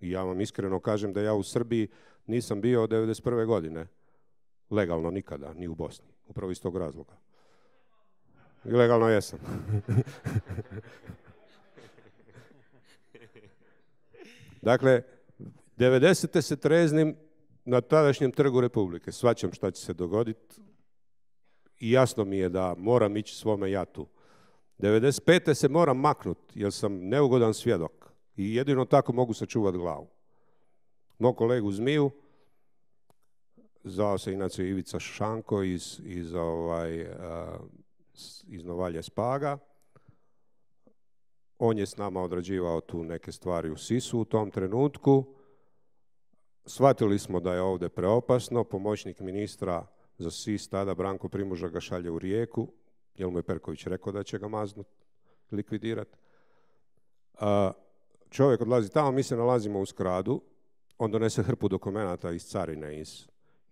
I ja vam iskreno kažem da ja u Srbiji nisam bio od 1991. godine. Legalno nikada, ni u Bosni. Upravo iz tog razloga. I legalno jesam. Dakle, 90. se treznim na tadašnjem trgu Republike. Shvaćam šta će se dogoditi i jasno mi je da moram ići svome jatu. 95. se moram maknuti jer sam neugodan svjedok i jedino tako mogu sačuvati glavu. Moj kolegu Zmiju, zvao se inače Ivica Šanko iz Novalje Spaga. On je s nama odrađivao tu neke stvari u SIS-u u tom trenutku. Shvatili smo da je ovdje preopasno. Pomoćnik ministra za SIS tada Branko Primoža ga šalje u Rijeku, jer mu je Perković rekao da će ga maznut, likvidirati. Čovjek odlazi tamo, mi se nalazimo u Skradu, on donese hrpu dokumenata iz carine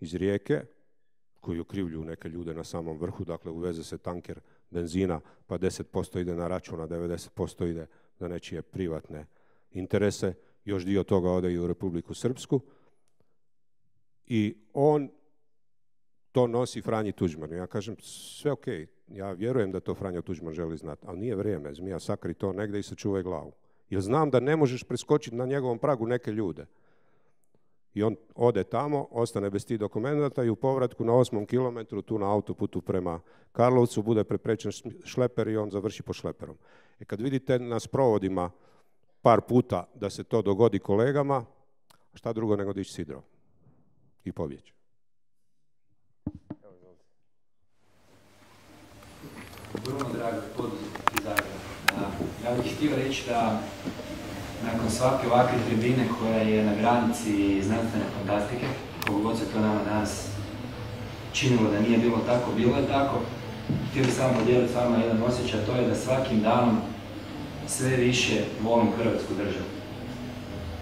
iz Rijeke, koji okrivljuju neke ljude na samom vrhu, dakle uveze se tanker benzina, pa 10% ide na račun, a 90% ide za nečije privatne interese, još dio toga ode i u Republiku Srpsku. I on to nosi Franji Tuđmanu. Ja kažem, sve ok, ja vjerujem da to Franjo Tuđman želi znati, ali nije vrijeme, zmija, sakri to negdje i sačuvaj glavu. Jer znam da ne možeš preskočiti na njegovom pragu neke ljude. I on ode tamo, ostane bez tih dokumenta i u povratku na 8. kilometru, tu na autoputu prema Karlovcu, bude preprečen šleper i on završi po šleperom. Kad vidite na sprovodima par puta da se to dogodi kolegama, šta drugo nego dići sidro i pobjeći. Bruno Drago, poduzetnik iz Zagreba. Ja bih htio reći da nakon svake ovakve tribine koja je na granici znanstvene fantastike, koliko god se to nama danas činilo da nije bilo tako, bilo je tako, htio bih samo podijeliti s vama jedan osjećaj, to je da svakim danom sve više volim Hrvatsku državu.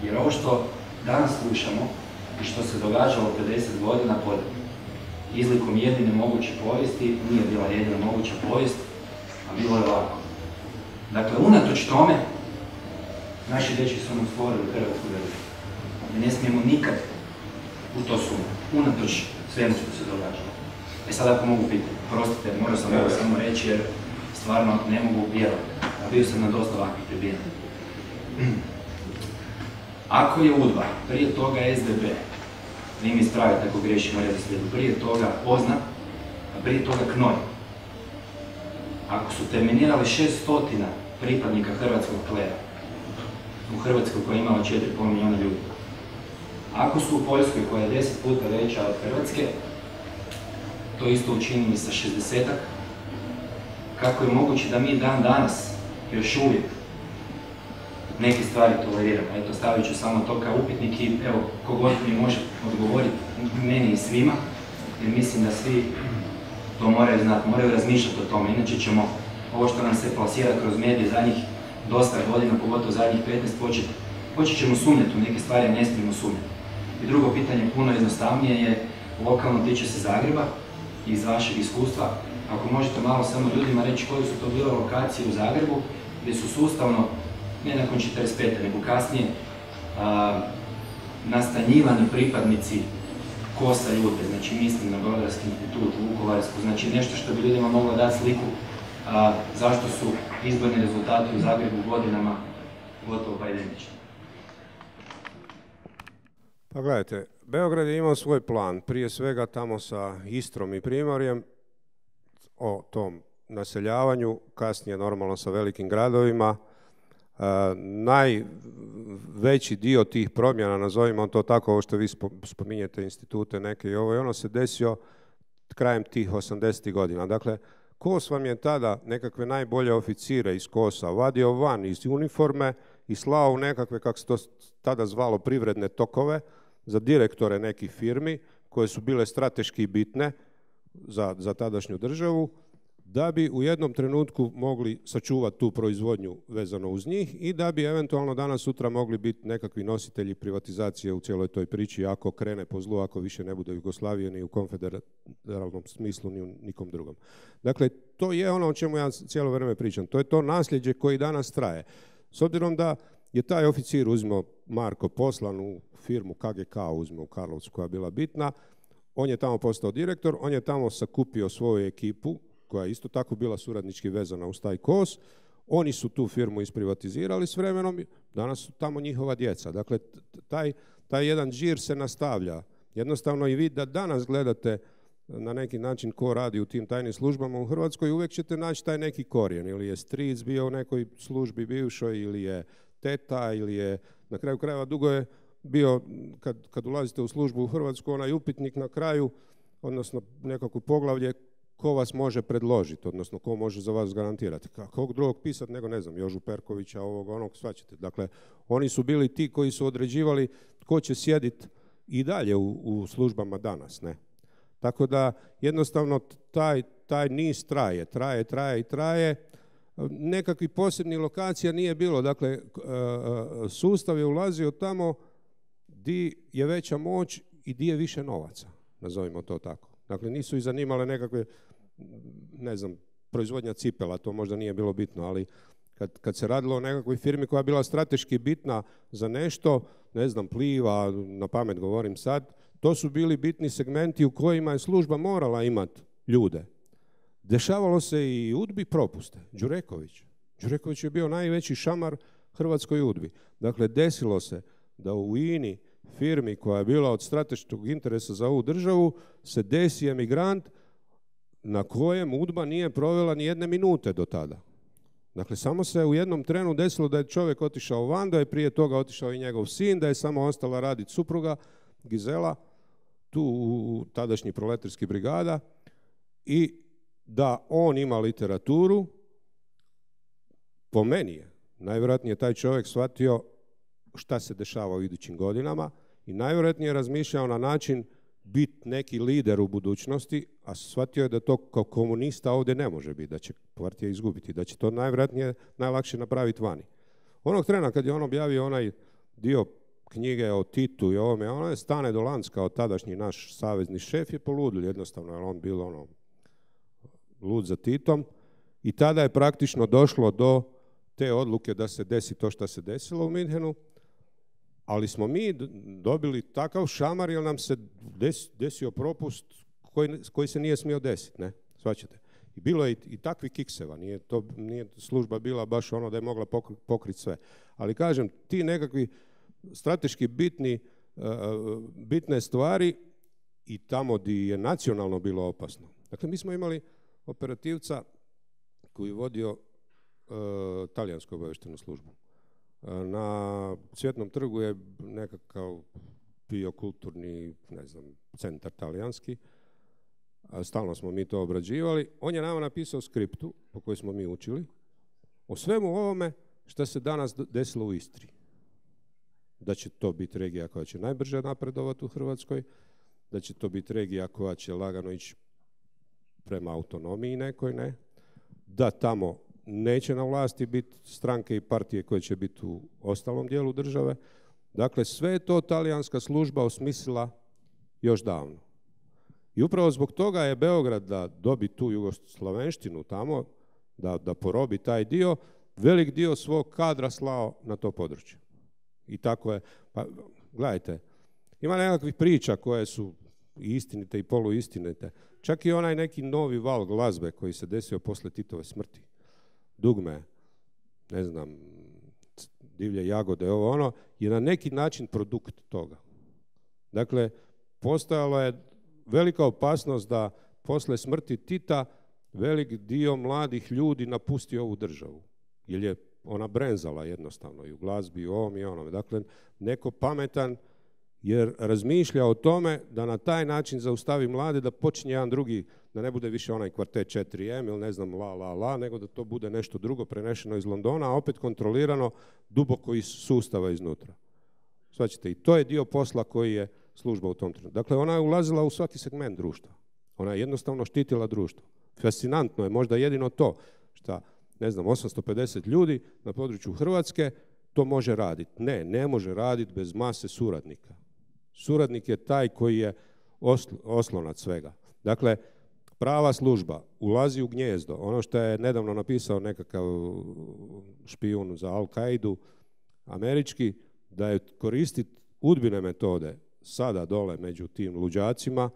Jer ovo što danas slušamo i što se događalo 50 godina pod izlikom jedine moguće povijesti, nije bila jedina moguća povijest, a bilo je ovako. Dakle, unatoč tome, naši dečki su nam stvorili Hrvatsku državu. I ne smijemo nikad u to sumnjati, unatoč svemu što se događalo. Sad ako mogu pitati, prostite, moram sam ovo samo reći jer stvarno ne mogu vjerovati. Bio sam na dosta ovakvih tribina. Ako je UDBA, prije toga SDP, vi mi ispravite ako griješimo redoslijedu, prije toga OZNA, a prije toga KNOJ. Ako su terminirali 600 pripadnika hrvatskog klera, u Hrvatskoj koja je imala 4,5 milijuna ljudi, ako su u Poljskoj koja je 10 puta veća od Hrvatske, to isto učinili sa 60-ak, kako je moguće da mi dan danas još uvijek neke stvari toleriramo. Eto, stavit ću samo to kao upitnik i evo, kogod mi može odgovoriti, meni i svima, jer mislim da svi to moraju znati, moraju razmišljati o tome, inače ćemo ovo što nam se plasira kroz medije zadnjih dosta godina, pogotovo zadnjih 15, počet ćemo sumnjati u neke stvari, ne smijemo sumnjati. I drugo pitanje, puno jednostavnije, je lokalno, tiče se Zagreba, iz vašeg iskustva. ako možete malo samo ljudima reći koje su to bile lokacije u Zagrebu, gdje su sustavno, ne nakon 45. nego kasnije, nastanjivani pripadnici KOS-a Judbe, znači mislim na Brodarski institut, Vukovarsku, znači nešto što bi ljudima moglo dati sliku zašto su izborni rezultati u Zagrebu godinama gotovo pa identični. Pa gledajte, Beograd je imao svoj plan, prije svega tamo sa Istrom i Primorjem, o tom naseljavanju, kasnije normalno sa velikim gradovima. Najveći dio tih promjena, nazovimo to tako, ovo što vi spominjete institute neke i ovo i ono, se desio krajem tih 80. godina. Dakle, KOS vam je tada nekakve najbolje oficire iz KOS-a vadio van iz uniforme i slao u nekakve, kako se to tada zvalo, privredne tokove za direktore nekih firmi koje su bile strateški bitne za tadašnju državu, da bi u jednom trenutku mogli sačuvati tu proizvodnju vezano uz njih i da bi eventualno danas sutra mogli biti nekakvi nositelji privatizacije u cijeloj toj priči ako krene po zlu, ako više ne bude Jugoslavije ni u konfederalnom smislu ni u nikom drugom. Dakle, to je ono o čemu ja cijelo vrijeme pričam. To je to nasljeđe koji danas traje. S obzirom da je taj oficir uzmo Marko poslan u firmu KGK uzmo u Karlovcu koja je bila bitna, on je tamo postao direktor, on je tamo sakupio svoju ekipu koja je isto tako bila suradnički vezana uz taj KOS. Oni su tu firmu isprivatizirali s vremenom, danas su tamo njihova djeca. Dakle, taj jedan džir se nastavlja. Jednostavno i vi da danas gledate na neki način ko radi u tim tajnim službama u Hrvatskoj, uvijek ćete naći taj neki korijen. Ili je stric bio u nekoj službi bivšoj, ili je teta, ili je, na kraju krajeva dugo je bio, kad ulazite u službu u Hrvatsku, onaj upitnik na kraju, odnosno nekako poglavlje, ko vas može predložiti, odnosno ko može za vas garantirati. Kog drugog pisati nego, ne znam, Jožu Perkovića, ovog, onog, svačete. Dakle, oni su bili ti koji su određivali tko će sjediti i dalje u službama danas, ne. Tako da, jednostavno, taj niz traje. Nekakvih posebnih lokacija nije bilo. Dakle, sustav je ulazio tamo di je veća moć i di je više novaca, nazovimo to tako. Dakle, nisu ih zanimale nekakve, ne znam, proizvodnja cipela, to možda nije bilo bitno, ali kad se radilo o nekakvoj firmi koja je bila strateški bitna za nešto, ne znam, Pliva, na pamet govorim sad, to su bili bitni segmenti u kojima je služba morala imati ljude. Dešavalo se i UDBI propuste. Đureković je bio najveći šamar Hrvatskoj UDBI. Dakle, desilo se da u INI, firmi koja je bila od strateškog interesa za ovu državu, se desi emigrant na kojem UDBA nije provela ni jedne minute do tada. Dakle, samo se u jednom trenu desilo da je čovjek otišao van, da je prije toga otišao i njegov sin, da je samo ostala raditi supruga Gizela, tu u tadašnji proletarski brigada, i da on ima literaturu. Po meni je najvjerojatnije taj čovjek shvatio šta se dešava u idućim godinama i najvjerojatnije razmišljao na način biti neki lider u budućnosti, a shvatio je da to kao komunista ovdje ne može biti, da će partija izgubiti, da će to najvjerojatnije najlakše napraviti vani. Onog trena kad je on objavio onaj dio knjige o Titu i ovome, ono je Stane Dolanc kao tadašnji naš savezni šef je poludil jednostavno, jer on bio lud za Titom, i tada je praktično došlo do te odluke da se desi to što se desilo u Minhenu, ali smo mi dobili takav šamar jer nam se desio propust koji se nije smio desiti, ne? Shvaćate? I bilo je i takvi kikseva, nije služba bila baš ono da je mogla pokriti sve. Ali kažem, ti nekakvi strateški bitne stvari i tamo gdje je nacionalno bilo opasno. Dakle, mi smo imali operativca koji je vodio talijansku obavještajnu službu. Na Cvjetnom trgu je nekakav bio kulturni, ne znam, centar talijanski. Stalno smo mi to obrađivali. On je nama napisao skriptu po kojoj smo mi učili o svemu ovome što se danas desilo u Istri. Da će to biti regija koja će najbrže napredovati u Hrvatskoj, da će to biti regija koja će lagano ići prema autonomiji nekoj, ne, da tamo neće na vlasti biti stranke i partije koje će biti u ostalom dijelu države. Dakle, sve je to talijanska služba osmislila još davno. I upravo zbog toga je Beograd, da dobi tu jugoslavenštinu tamo, da porobi taj dio, velik dio svog kadra slao na to područje. I tako je. Pa, gledajte, ima nekakvih priča koje su i istinite i poluistinite. Čak i onaj neki novi val glazbe koji se desio posle Titove smrti. Dugme, ne znam, Divlje jagode, ovo ono, je na neki način produkt toga. Dakle, postojala je velika opasnost da posle smrti Tita velik dio mladih ljudi napusti ovu državu. Jer je ona brenzala jednostavno i u glazbi, i u ovom i onome. Dakle, neko pametan jer razmišlja o tome da na taj način zaustavi mlade, da počinje jedan drugi, da ne bude više onaj kvartet 4M ili ne znam la, nego da to bude nešto drugo prenešeno iz Londona, a opet kontrolirano duboko iz sustava iznutra. Svaćate, i to je dio posla koji je služba u tom trenutku. Dakle, ona je ulazila u svaki segment društva. Ona je jednostavno štitila društvo. Fascinantno je možda jedino to što, ne znam, 850 ljudi na području Hrvatske to može raditi. Ne može raditi bez mase suradnika. Suradnik je taj koji je oslonac svega. Dakle, prava služba ulazi u gnijezdo. Ono što je nedavno napisao nekakav špijun za Al-Kaidu, američki, da je koristiti udbine metode sada dole među tim luđacima,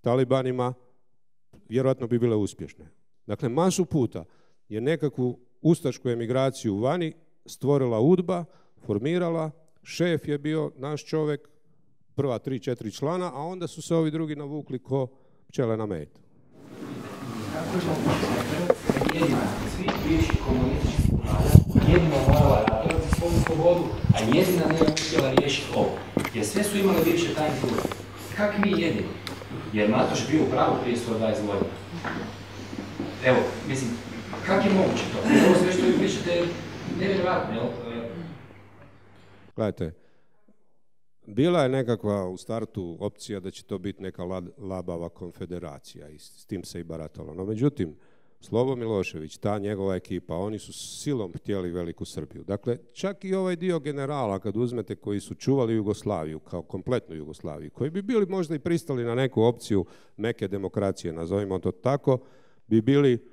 talibanima, vjerojatno bi bile uspješne. Dakle, masu puta je nekakvu ustašku emigraciju vani stvorila UDBA, formirala, šef je bio naš čovjek, prva 3-4 člana, a onda su se ovi drugi navukli ko pčele na med. Kako je moguće jedina svih bivših komunističkih vlada jedino morala ratovati svoju slobodu, a jedina nije uspjela riješiti ovo? Jer sve su imali bivše tajne službe. Kak mi jedino? Jer Matoš bio u pravu prije 120 godina. Evo, mislim, kak je moguće to? Ovo sve što vi pričate je nevjerojatno, jel? Gledajte, bila je nekakva u startu opcija da će to biti neka labava konfederacija i s tim se i baratalo. No, međutim, Slobo Milošević, ta njegova ekipa, oni su silom htjeli Veliku Srbiju. Dakle, čak i ovaj dio generala, kad uzmete, koji su čuvali Jugoslaviju, kao kompletnu Jugoslaviju, koji bi bili možda i pristali na neku opciju meke demokracije, nazovimo to tako, bi bili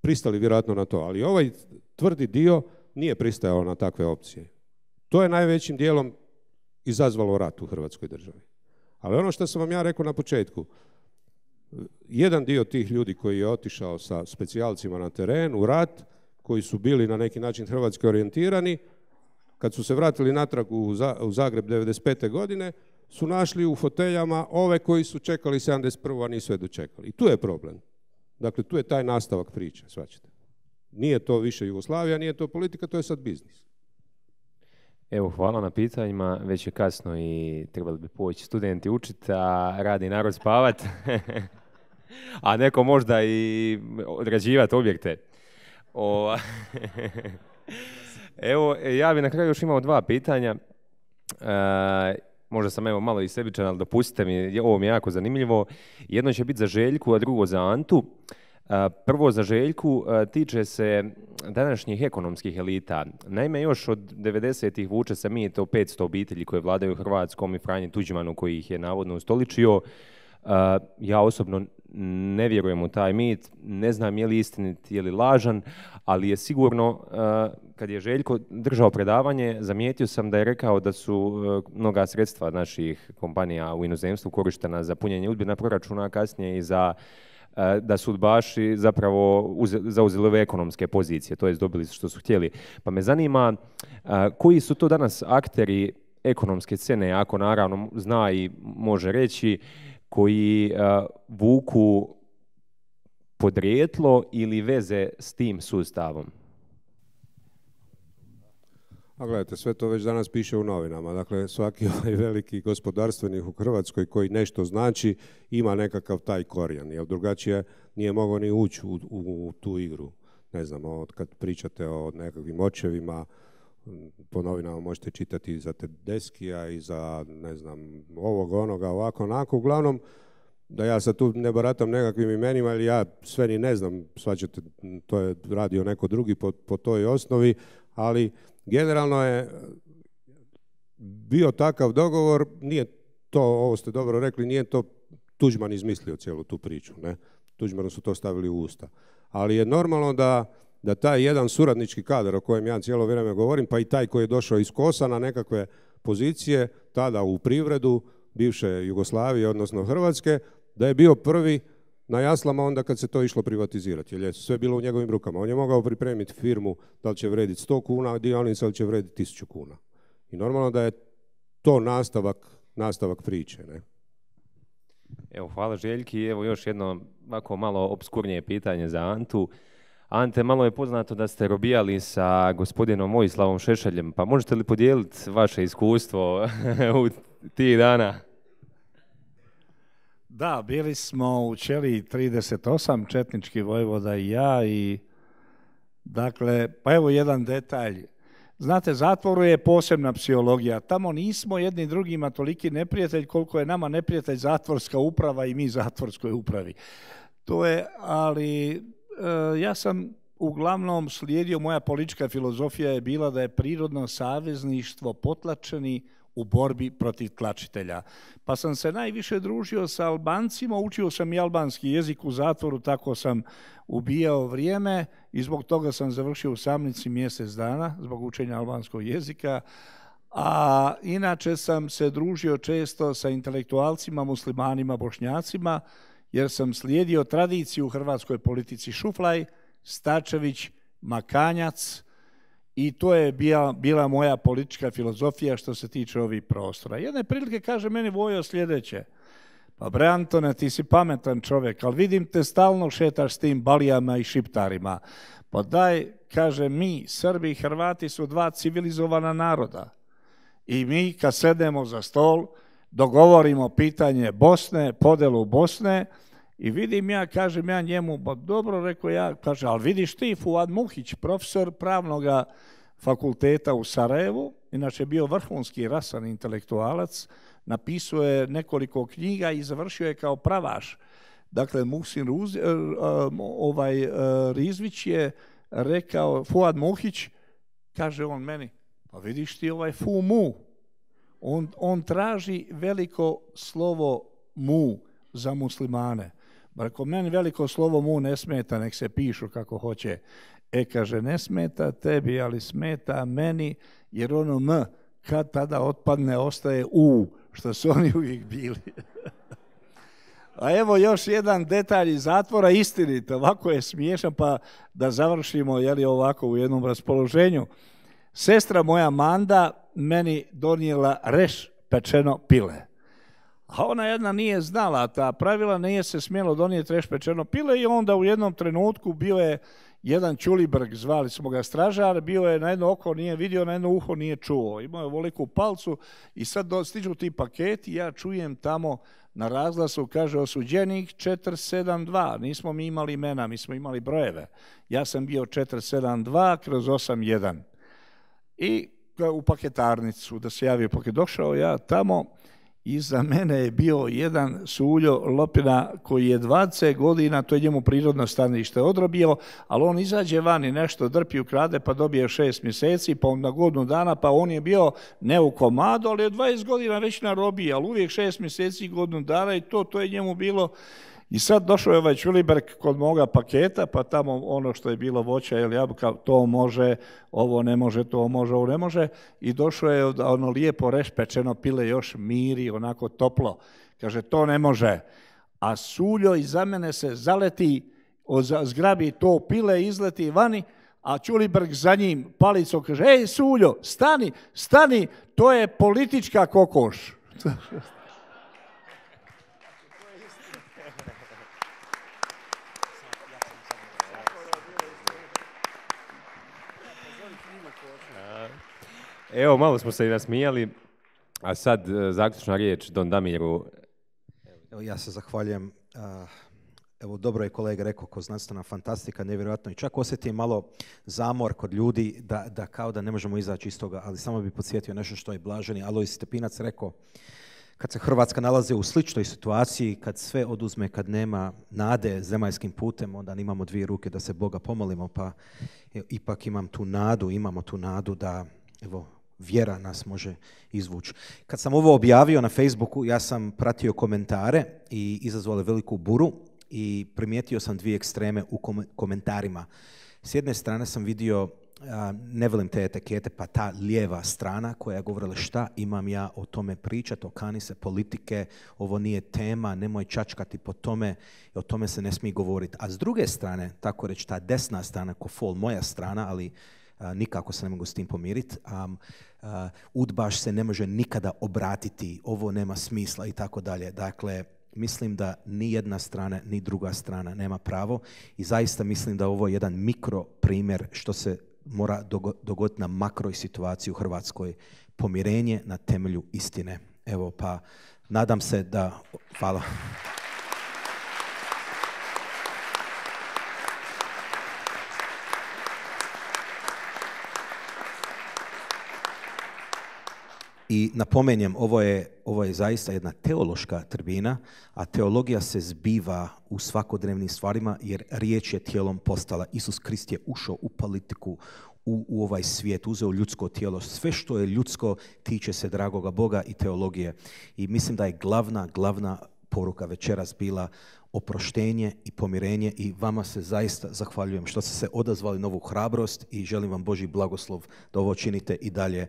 pristali vjerojatno na to. Ali ovaj tvrdi dio nije pristajao na takve opcije. To je najvećim dijelom izazvalo rat u Hrvatskoj državi. Ali ono što sam vam ja rekao na početku, jedan dio tih ljudi koji je otišao sa specijalcima na teren u rat, koji su bili na neki način hrvatski orijentirani, kad su se vratili natrag u Zagreb 95. godine, su našli u foteljama ove koji su čekali 71. a nisu je dočekali. I tu je problem. Dakle, tu je taj nastavak priče, shvaćate. Nije to više Jugoslavija, nije to politika, to je sad biznis. Evo, hvala na pitanjima. Već je kasno i trebali bi poći studenti učiti, a radi narod spavat. A neko možda i odrađivati objekte. Evo, ja bi na kraju još imao 2 pitanja. Možda sam evo malo i sebičan, ali dopustite mi, ovo mi je jako zanimljivo. Jedno će biti za Željku, a drugo za Antu. Prvo za Željku tiče se današnjih ekonomskih elita. Naime, još od 90-ih vuče se mit o 500 obitelji koje vladaju Hrvatskom i Franji Tuđmanu koji ih je navodno ustoličio. Ja osobno ne vjerujem u taj mit, ne znam je li istinit, je li lažan, ali je sigurno, kad je Željko držao predavanje, zamijetio sam da je rekao da su mnoga sredstva naših kompanija u inozemstvu korištena za punjenje udbina proračuna, a kasnije i da su udbaši zapravo zauzeli ove ekonomske pozicije, to jest dobili što su htjeli. Pa me zanima koji su to danas akteri ekonomske scene, ako naravno zna i može reći, koji vuku podrijetlo ili veze s tim sustavom? A gledajte, sve to već danas piše u novinama. Dakle, svaki ovaj veliki gospodarstvenik u Hrvatskoj koji nešto znači, ima nekakav taj korijen, jer drugačije nije mogao ni ući u tu igru. Ne znam, kad pričate o nekakvim očevima, po novinama možete čitati i za Tedeskija i za, ne znam, ovog, onoga, ovako, onako. Uglavnom, da ja sad tu ne baratam nekakvim imenima, ili ja sve ni ne znam, svačate, to je radio neko drugi po toj osnovi, ali generalno je bio takav dogovor, nije to, ovo ste dobro rekli, nije to Tuđman izmislio cijelu tu priču, ne? Tuđmanu su to stavili u usta. Ali je normalno da taj jedan suradnički kadar o kojem ja cijelo vrijeme govorim, pa i taj koji je došao iz KOS-a na nekakve pozicije, tada u privredu bivše Jugoslavije, odnosno Hrvatske, da je bio prvi na jaslama onda kad se to išlo privatizirati, jer je sve bilo u njegovim rukama. On je mogao pripremiti firmu da li će vrediti 100 kuna dionica ili će vrediti 1000 kuna. I normalno da je to nastavak priče, ne? Evo, hvala Željki. Evo još jedno ovako malo obskurnije pitanje za Antu. Ante, malo je poznato da ste robijali sa gospodinom Vojislavom Šešeljem, pa možete li podijeliti vaše iskustvo u tih dana? Da, bili smo u Ćeliji 38, četnički vojvoda i ja i dakle, pa evo jedan detalj. Znate, zatvoru je posebna psihologija. Tamo nismo jedni drugima toliki neprijatelj koliko je nama neprijatelj zatvorska uprava i mi zatvorskoj upravi. To je, ali ja sam uglavnom slijedio, moja politička filozofija je bila da je prirodno savezništvo potlačeni u borbi protiv tlačitelja. Pa sam se najviše družio sa Albancima, učio sam i albanski jezik u zatvoru, tako sam ubijao vrijeme i zbog toga sam završio u Samnici mjesec dana, zbog učenja albanskog jezika. A inače sam se družio često sa intelektualcima, muslimanima, bošnjacima, jer sam slijedio tradiciju u hrvatskoj politici Šuflaj, Stačević, Makanjac, i to je bila moja politička filozofija što se tiče ovih prostora. Jedne prilike kaže meni Vojo sljedeće: pa bre Antone, ti si pametan čovjek, ali vidim te stalno šetaš s tim balijama i šiptarima. Pa daj, kaže, mi, Srbi i Hrvati su dva civilizovana naroda. I mi kad sedemo za stol, dogovorimo pitanje Bosne, podelu Bosne, i vidim ja, kažem ja njemu, ba dobro, rekao ja, kaže, ali vidiš ti, Fuad Muhić, profesor pravnog fakulteta u Sarajevu, inače bio vrhunski rasan intelektualac, napisao je nekoliko knjiga i završio je kao pravaš. Dakle, Muhsin Rizvić je rekao, Fuad Muhić, kaže on meni, pa vidiš ti ovaj Fu Mu, on traži veliko slovo mu za muslimane. Ako meni veliko slovo mu ne smeta, nek se pišu kako hoće. Kaže, ne smeta tebi, ali smeta meni, jer ono m kad tada otpadne ostaje u, što su oni uvijek bili. A evo još jedan detalj iz zatvora, istinite, ovako je smiješan, pa da završimo ovako u jednom raspoloženju. Sestra moja Manda meni donijela reš pečeno pile. A ona jedna nije znala ta pravila, nije se smjelo donijeti reš pečeno pile i onda u jednom trenutku bio je jedan Čulibrg, zvali smo ga stražar, bio je na jedno oko nije vidio, na jedno uho nije čuo. Imao je veliku palcu i sad stižu ti paketi, ja čujem tamo na razglasu, kaže osuđenik 472, nismo mi imali imena, mi smo imali brojeve. Ja sam bio 472/81 i u paketarnicu da se javio paket. Došao ja tamo, iza mene je bio jedan Suljo Lopina koji je 20 godina, to je njemu prirodno stanište, odrobio, ali on izađe van i nešto drpi, ukrade, pa dobije 6 mjeseci, pa na godinu dana, pa on je bio ne u komadu, ali je 20 godina već na robiji, ali uvijek 6 mjeseci i godinu dana i to je njemu bilo. I sad došao je ovaj Čuliberg kod moga paketa, pa tamo ono što je bilo voća ili jabuka, to može, ovo ne može, to može, ovo ne može. I došao je ono lijepo reš pečeno pile, još miri, onako toplo. Kaže, to ne može. A Suljo iza mene se zaleti, zgrabi to pile, izleti vani, a Čuliberg za njim palicom kaže, ej Suljo, stani, stani, to je politička kokoš. Evo, malo smo se i nasmijali, a sad zaključna riječ Don Damiru. Evo, ja se zahvaljujem. Evo, dobro je kolega rekao, ko znanstvena fantastika, nevjerojatno. I čak osjetim malo zamor kod ljudi da kao da ne možemo izaći iz toga, ali samo bi podsjetio nešto što je blaženi Alojz Stepinac rekao. Kad se Hrvatska nalazi u sličnoj situaciji, kad sve oduzme, kad nema nade zemaljskim putem, onda imamo dvije ruke da se Boga pomolimo, pa ipak imamo tu nadu da, evo, vjera nas može izvući. Kad sam ovo objavio na Facebooku, ja sam pratio komentare i izazvalo veliku buru i primijetio sam dvije ekstreme u komentarima. S jedne strane sam vidio, ne volim te etikete, pa ta lijeva strana koja je govorila šta imam ja o tome pričati, okani se politike, ovo nije tema, nemoj čačkati po tome, o tome se ne smije govoriti. A s druge strane, tako reći, ta desna strana, ko fol moja strana, ali nikako se ne mogu s tim pomiriti, udbaš se ne može nikada obratiti, ovo nema smisla i tako dalje. Dakle, mislim da ni jedna strana, ni druga strana nema pravo i zaista mislim da ovo je jedan mikro primjer što se mora dogoditi na makroj situaciji u Hrvatskoj. Pomirenje na temelju istine. Evo, pa nadam se da... Hvala. I napomenjem, ovo je zaista jedna teološka tribina, a teologija se zbiva u svakodnevnim stvarima jer riječ je tijelom postala. Isus Krist je ušao u politiku, u ovaj svijet, uzeo ljudsko tijelo. Sve što je ljudsko tiče se dragoga Boga i teologije. I mislim da je glavna poruka večeras bila oproštenje i pomirenje i vama se zaista zahvaljujem što ste se odazvali na ovu hrabrost i želim vam Božji blagoslov da ovo činite i dalje.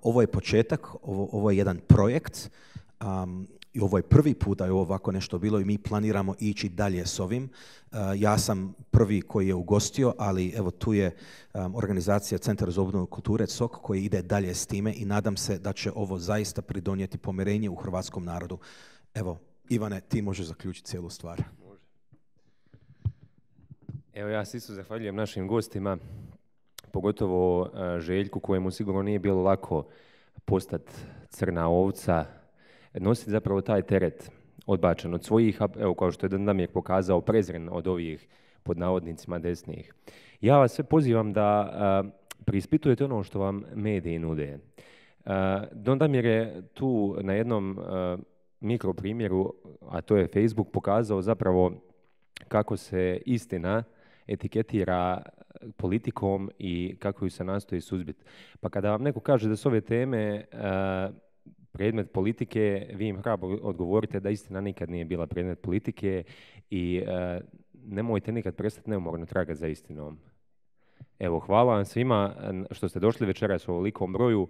Ovo je početak, ovo je jedan projekt i ovo je prvi put da je ovo ovako nešto bilo i mi planiramo ići dalje s ovim. Ja sam prvi koji je ugostio, ali evo tu je organizacija Centar za obnovu kulture COK koji ide dalje s time i nadam se da će ovo zaista pridonijeti pomirenje u hrvatskom narodu. Evo, Ivane, ti možeš zaključiti cijelu stvar. Evo, ja se isto zahvaljujem našim gostima, pogotovo Željku, kojemu sigurno nije bilo lako postati crna ovca, nositi zapravo taj teret odbačen od svojih, evo kao što je Damir pokazao, prezren od ovih pod navodnicima desnih. Ja vas sve pozivam da preispitujete ono što vam mediji nude. Don Damir je tu na jednom mikro primjeru, a to je Facebook, pokazao zapravo kako se istina etiketira politikom i kako ju se nastoji suzbiti. Pa kada vam neko kaže da su ove teme predmet politike, vi im hrabro odgovorite da istina nikad nije bila predmet politike i nemojte nikad prestati neumorno tragati za istinom. Evo, hvala vam svima što ste došli večeras u ovolikom broju.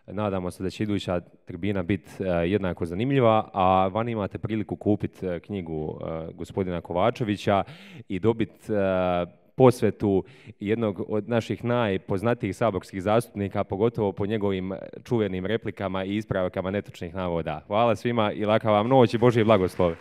Nadamo se da će iduća tribina biti jednako zanimljiva, a vani imate priliku kupiti knjigu gospodina Kovačevića i dobiti posvetu jednog od naših najpoznatijih saborskih zastupnika, pogotovo po njegovim čuvenim replikama i ispravkama netočnih navoda. Hvala svima i laka vam noć i Božji blagoslov.